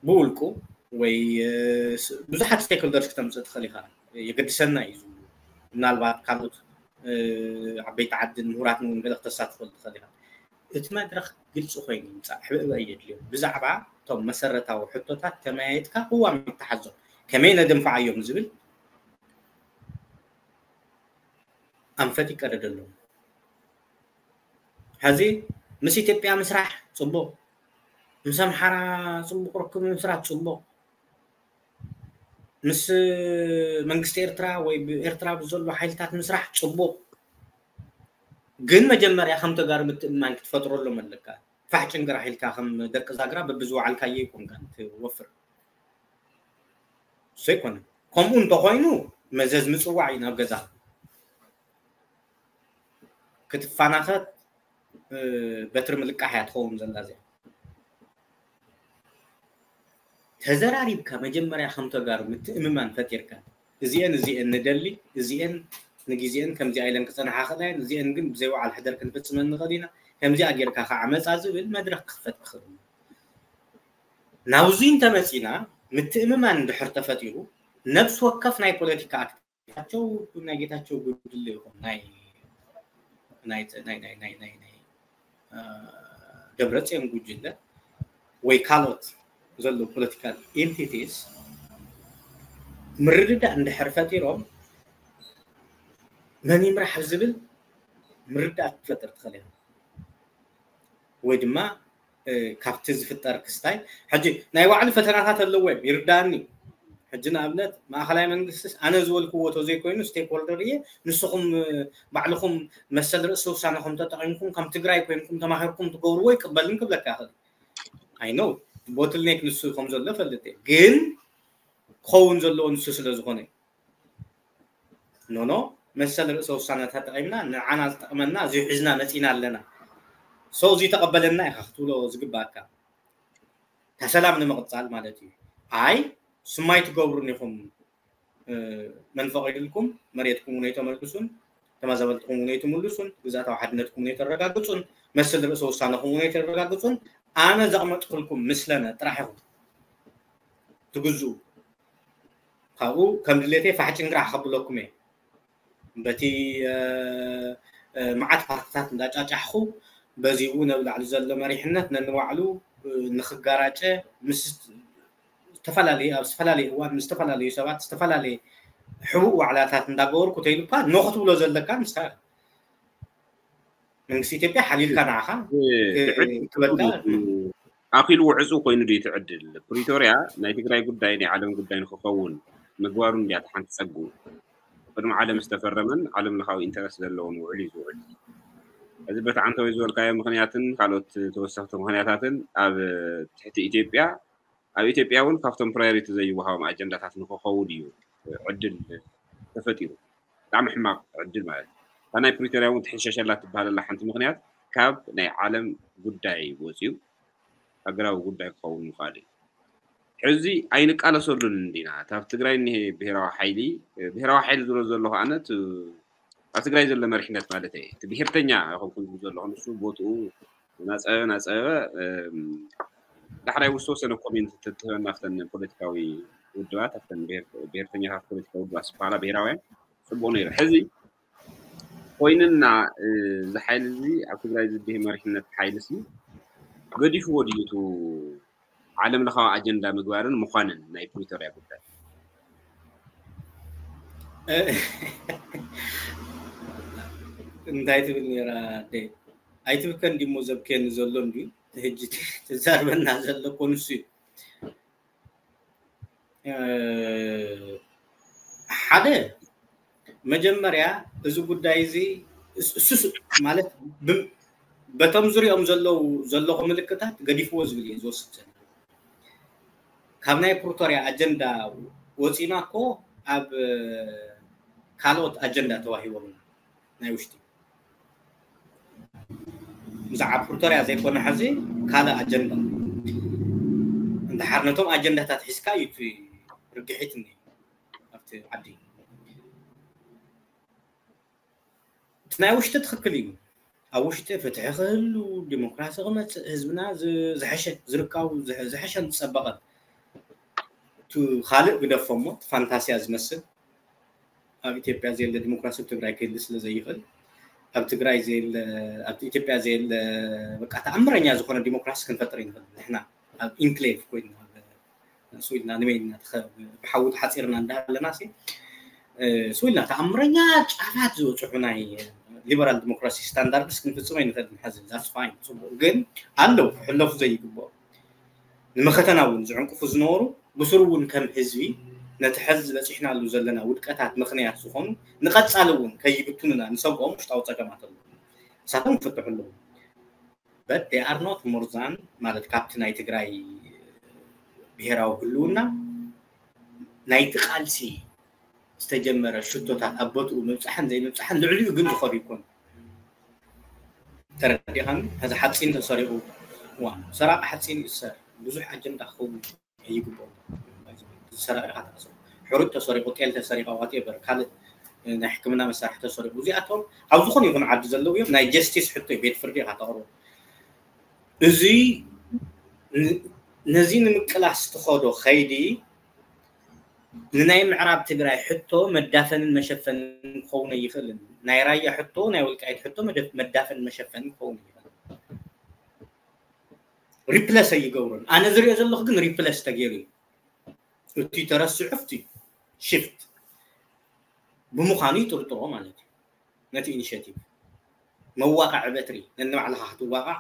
ብውልቁ ወይ ብዙሓት ስቴክሆልደርስ ክተምፅእ ትኽእል ኢኻ። የገድሰና እዩ ዝብሉ ምናልባት ካልኦት ዓበይቲ ዓድን ምሁራትን እውን ገለ ክተሳትፈሉ ትኽእል ኢኻ። እቲ መድረኽ ግልፂ ኮይኑ ይምፃእ። ሕብእበ የድልዮ። ብዛዕባ እቶም መሰረታዊ ሕቶታት ተመያየጥካ ቅዋም ይተሓዞም ከመይ ነደንፍዓዮም ዝብል ኣንፈት ይቀደደሎም። ሕዚ ምስ ኢትዮጵያ ምስራሕ ፅቡቕ፣ ምስ ኣምሓራ ፅቡቕ ርክብ ምስራሕ ፅቡቕ፣ ምስ መንግስቲ ኤርትራ ወይ ብኤርትራ ብዘሎ ሓይልታት ምስራሕ ፅቡቕ፣ ግን መጀመርያ ከም ተጋሩ ምትእምማን ክትፈጥረሎም ኣለካ። ፋሕ ጭንግራሕ ኢልካ ከም ደቂ ዛግራ በብዝወዓልካዮ ኣይኮንካን ትወፍር። እሱ ኣይኮነን። ከምኡ እንተኾይኑ መዘዝ ምፅዋዕ እዩ ናብ ገዛ ክትፋናኸት በትሪ ምልቃሕ እያ ትኸውን ዘላ እዚኣ። ተዘራሪብካ መጀመርያ ከም ተጋሩ ምትእምማን ፈጢርካ እዚአን እዚአን ንደሊ እዚአን ንግዜአን ከምዚኣ ኢለን ክፀንሓ ክእላ እየን እዚአን ግን ብዘይ ወዓል ሕደር ክንፍፅመን ንኽእል ኢና ከምዚኣ ጌርካ ከዓ መፃ ዝብል መድረክ ክኽፈት ክኽእል እዩ። ናብዙይ እንተመፂና ምትእምማን እንድሕር ተፈጢሩ ነብሲ ወከፍ ናይ ፖለቲካ ኣክቲቪስት ጌታቸው ናይ ጌታቸው ጉድለ ይኹን ናይ ናይ ናይ ናይ ናይ ናይ ደብረፅዮን ጉጅለ ወይ ካልኦት ዘለዉ ፖለቲካል ኤንቲቲስ ምርድዳእ እንድሕር ፈጢሮም መን ይምራሕ ዝብል ምርዳእ ክትፈጥር ትኽእል ኢኻ። ወይ ድማ ካብቲ ዝፍጠር ክስታይ ሕጂ ናይ ባዕሉ ፈተናታት ኣለዎ እዮም ይርዳእኒ። ሕጂ ንኣብነት ማእኸላይ መንግስትስ ኣነ ዝበልክዎ ተዘይኮይኑ ስቴክሆልደር እየ ንስኹም ባዕልኹም መሰል ርእሲ ውሳነኹም ተጠቒምኩም ከም ትግራይ ኮይንኩም ተማሂርኩም ትገብርዎ ይቅበልን ክብለካ ይኽእል። ኣይ ኖ ቦትልኔክ ንሱ ከም ዘሎ ፈልጥ እየ ግን ክኸውን ዘለዎ ንሱ ስለ ዝኾነ እዩ። ኖኖ መሰል ርእሰ ውሳነ ተጠቒምና ንዓና ዝጠቕመና እዚ ሒዝና መፂና ኣለና። ሰው እዚ ተቐበለና ኢኻ ክትብሎ ዝግባእካ። ተሰላም ንምቕፃል ማለት እዩ። ኣይ ስማይ ትገብሩን ኢኹም፣ መን ፈቒዱልኩም? መሬትኩም እውን ኣይተመልሱን፣ ተመዛበልትኩም እውን ኣይትምልሱን፣ ግዝኣታዊ ሓድነትኩም እውን ኣይተረጋግፁን፣ መሰል ርእሰ ውሳነኹም እውን ኣይተረጋግፁን። ኣነ ዘቕመጥኩልኩም ምስለነ ጥራሕ ኢኹም ትግዝኡ። ካብኡ ከም ድሌተይ ፋሕ ጭንግራሕ ከብለኩም እየ። በቲ መዓት ፓርትታት እንዳጫጫሕኹ በዚኡ ነብላዕሊ ዘሎ መሪሕነት ነንባዕሉ ንኽጋራጨ ምስ ዝተፈላለዩ ኣብ ዝተፈላለዩ እዋን ምስ ዝተፈላለዩ ሰባት ዝተፈላለየ ሕቡእ ዋዕላታት እንዳገበርኩ ተይሉካ ኖ ክትብሎ ዘለካ ንስኻ መንግስቲ ኢትዮጵያ ሓሊልካ ንዓኻ ክበልካ ኣኺሉ ውዕፁ ኮይኑ ድዩ ትዕድል? ፕሪቶርያ ናይ ትግራይ ጉዳይ ናይ ዓለም ጉዳይ ንክኸውን ምግባሩ እንድያ ሓንቲ ፀጉ። ቅድሚ ዓለም ዝተፈረመን ዓለም ለኻዊ ኢንተረስት ዘለዎን ውዕል እዩ ዝውዕል። እዚ በቲ ዓንተወይ ዝበልካዮ ምክንያትን ካልኦት ተወሰኽቲ ምክንያታትን ኣብ ትሕቲ ኢትዮጵያ ኣብ ኢትዮጵያ እውን ካብቶም ፕራዮሪቲ ዘይወሃቦም ኣጀንዳታት ንክኸውን እዩ ዕድል ተፈጢሩ። ብጣዕሚ ሕማቕ ዕድል ማለት እዩ። እታ ናይ ፕሪቶርያ እውን ትሕሸሸላ ትበሃለላ ሓንቲ ምክንያት ካብ ናይ ዓለም ጉዳይ ወፂኡ ሃገራዊ ጉዳይ ክኸውን ምኽኣሉ እዩ። ሕዚ ኣይንቃለሰሉን እንዲና። እታ ኣብ ትግራይ እኒሄ ብሄራዊ ሓይሊ፣ ብሄራዊ ሓይሊ ዝብሎ ዘለኹ ኣነ እቲ ኣብ ትግራይ ዘሎ መሪሕነት ማለት እየ። እቲ ብሄርተኛ ኣይኮንኩን ዝብል ዘለኹ፣ ንሱ ቦትኡ እናፀበበ እናፀበበ ዳሕራይ ዝተወሰነ ኮሜንት ተትህበና ኣብተን ፖለቲካዊ ውድባት ኣብተን ብሄርተኛታት ፖለቲካዊ ውድባት ዝበሃላ ብሄራውያን ፅቡቕ ነይሩ። ሕዚ ኮይንና እዚ ሓይሊ እዚ ኣብ ትግራይ ዝድህ መሪሕነት ሓይሊ ሲ ገዲፍዎ ድዩ እቲ ዓለም ለኻዊ ኣጀንዳ ምግባርን ምዃንን ናይ ፕሪቶርያ ጉዳይ? እንታይ ትብል ነራ ኣደይ? ኣይትብከን ዲሞ ዘብክየኒ ዘሎ እንዲ ሕጂ ትዛርበና ዘሎ ኮንሱ እዩ። ሓደ መጀመርያ እዚ ጉዳይ እዚ እሱስ ማለት በቶም ዙሪኦም ዘለዉ ዘለኹ ምልክታት ገዲፍዎ ዝብል እየ ዝወስድ ዘሎ። ካብ ናይ ፕሪቶርያ ኣጀንዳ ወፂና እኮ ኣብ ካልኦት ኣጀንዳ ተዋሂቦምና ናይ ውሽጢ ብዛዕባ ፕሪቶርያ ዘይኮነ ሕዚ ካልእ ኣጀንዳ እንድሓር ነቶም ኣጀንዳታት ሒዝካ እዩ እቲ ርግሒት እኒ ኣብቲ ዓዲ እቲ ናይ ውሽጢ ትኽክል እዩ። ኣብ ውሽጢ ፍትሒ ክህሉ ዲሞክራሲ ክመፅእ ህዝብና ዝሐሸ ዝርካቡ ዝሐሸን ዝፀበቐን ካልእ ግደፎ እሞ ፋንታስያ ዝመስል ኣብ ኢትዮጵያ ዘየለ ዲሞክራሲ ኣብ ትግራይ ክህሊ ስለ ዘይኽእል ኣብ ትግራይ ዘየለ ኣብ ኢትዮጵያ ዘየለ በቃ ተኣምረኛ ዝኾነ ዲሞክራሲ ክንፈጥር ይንኽእል ንሕና ኣብ ኢንክሌቭ ኮይና ስዊልና ንመይና ብሓዊ ተሓፂርና እንዳሃለና ሲ ስዊልና ተኣምረኛ ጫፋት ዝበፅሑ ናይ ሊበራል ዲሞክራሲ ስታንዳርድስ ክንፍፅሞ ይንኽእል ንሓዚ that's fine ፅቡቅ ግን ኣለዉ ክሕለፉ ዘይግብኦ ንመኸተና እውን ዝዕንቅፉ ዝነበሩ ብስሩ እውን ከም ህዝቢ ነቲ ሕዚ ዝበፂሕናሉ ዘለና ውድቀታት ምኽንያት ዝኾኑ ንቐፃሊ እውን ከይብትኑና ንሰግኦም ውሽጣዊ ፀገማት ኣለዉ ንሳቶም ክፍትሑ ኣለዉ but they are not more than ማለት ካብቲ ናይ ትግራይ ብሄራዊ ህልውና ናይቲ ቃልሲ ዝተጀመረ ሽቶታት ኣብ ቦትኡ ምብፃሕን ዘይምብፃሕን ልዕሊኡ ግን ዝኸዱ ይኮኑ ተረዲኻኒ ሕዚ ሓፂን ተሰሪቑ ዋ ሰራቂ ሓፂን ይሰር ብዙሕ ኣጀንዳ ክኸውን ኣይግብኦም ሰራቂ ኢኻ ትሕስቦ ሕሩጭ ተሰሪቑ ጤል ተሰሪቐ whatever ካልእ ናይ ሕክምና መሳርሒ ተሰሪቑ እዚኣቶም ኣብ ዝኾነ ይኹን ዓዲ ዘለዉ እዮም ናይ ጀስቲስ ሕቶ ቤት ፍርዲ ኢኻ ተቕርቦ እዚ ነዚ ንምቅላስ ትኸዶ ኸይዲ ንናይ ምዕራብ ትግራይ ሕቶ መዳፈንን መሸፈንን ክኸውን ኣይኽእልን ናይ ራያ ሕቶ ናይ ወልቃይት ሕቶ መዳፈንን መሸፈንን ክኸውን ኣይኽእልን ሪፕለስ ኣይገብሮን ኣነ ዝሪኦ ዘለኹ ግን ሪፕለስ ተገይሩ እዩ እቲ ተረስዑ እቲ ሽፍት ብምዃኑ ይጥርጥሮ ማለት እዩ ነቲ ኢኒሽቲቭ መዋቃዕ በትሪ ነንባዕልኻ ክትዋቃዕ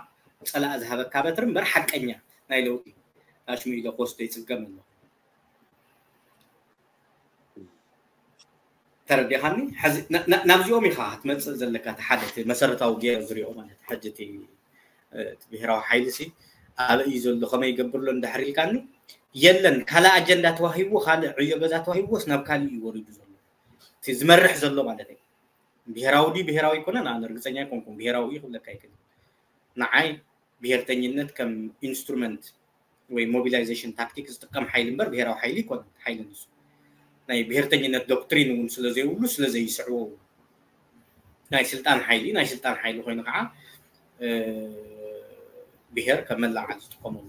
ፀላእ ዝሃበካ በትሪ እምበር ሓቀኛ ናይ ለውጢ ኣሽሙ ኢለ ክወስዶ ይፅገም ኣሎ ተረዲኻኒ ናብዚኦም ኢኻ ክትመፅእ ዘለካ እቲ ሓደ መሰረታዊ ገይረ ዝሪኦ ማለት ሕጂ እቲ ብሄራዊ ሓይሊ ሲ ኣበይ እዩ ዘሎ ከመይ ይገብር ኣሎ እንዳሕር ኢልካኒ የለን። ካልእ ኣጀንዳ ተዋሂብዎ፣ ካልእ ዕዮ ገዛ ተዋሂብዎስ ናብ ካልእ እዩ ወሪዱ ዘሎ። እቲ ዝመርሕ ዘሎ ማለት እዩ። ብሄራዊ ድዩ ብሄራዊ ኣይኮነን፣ ኣነ ርግፀኛ ኣይኮንኩን። ብሄራዊ እዩ ክብለካ ኣይክእልን። ንዓይ ብሄርተኝነት ከም ኢንስትሩመንት ወይ ሞቢላይዜሽን ታክቲክ ዝጥቀም ሓይሊ እምበር ብሄራዊ ሓይሊ ይኮነን። ሓይሊ ንሱ ናይ ብሄርተኝነት ዶክትሪን እውን ስለ ዘይብሉ ስለ ዘይስዕቦ ናይ ስልጣን ሓይሊ ናይ ስልጣን ሓይሊ ኮይኑ ከዓ ብሄር ከም መላዓል ዝጥቀመሉ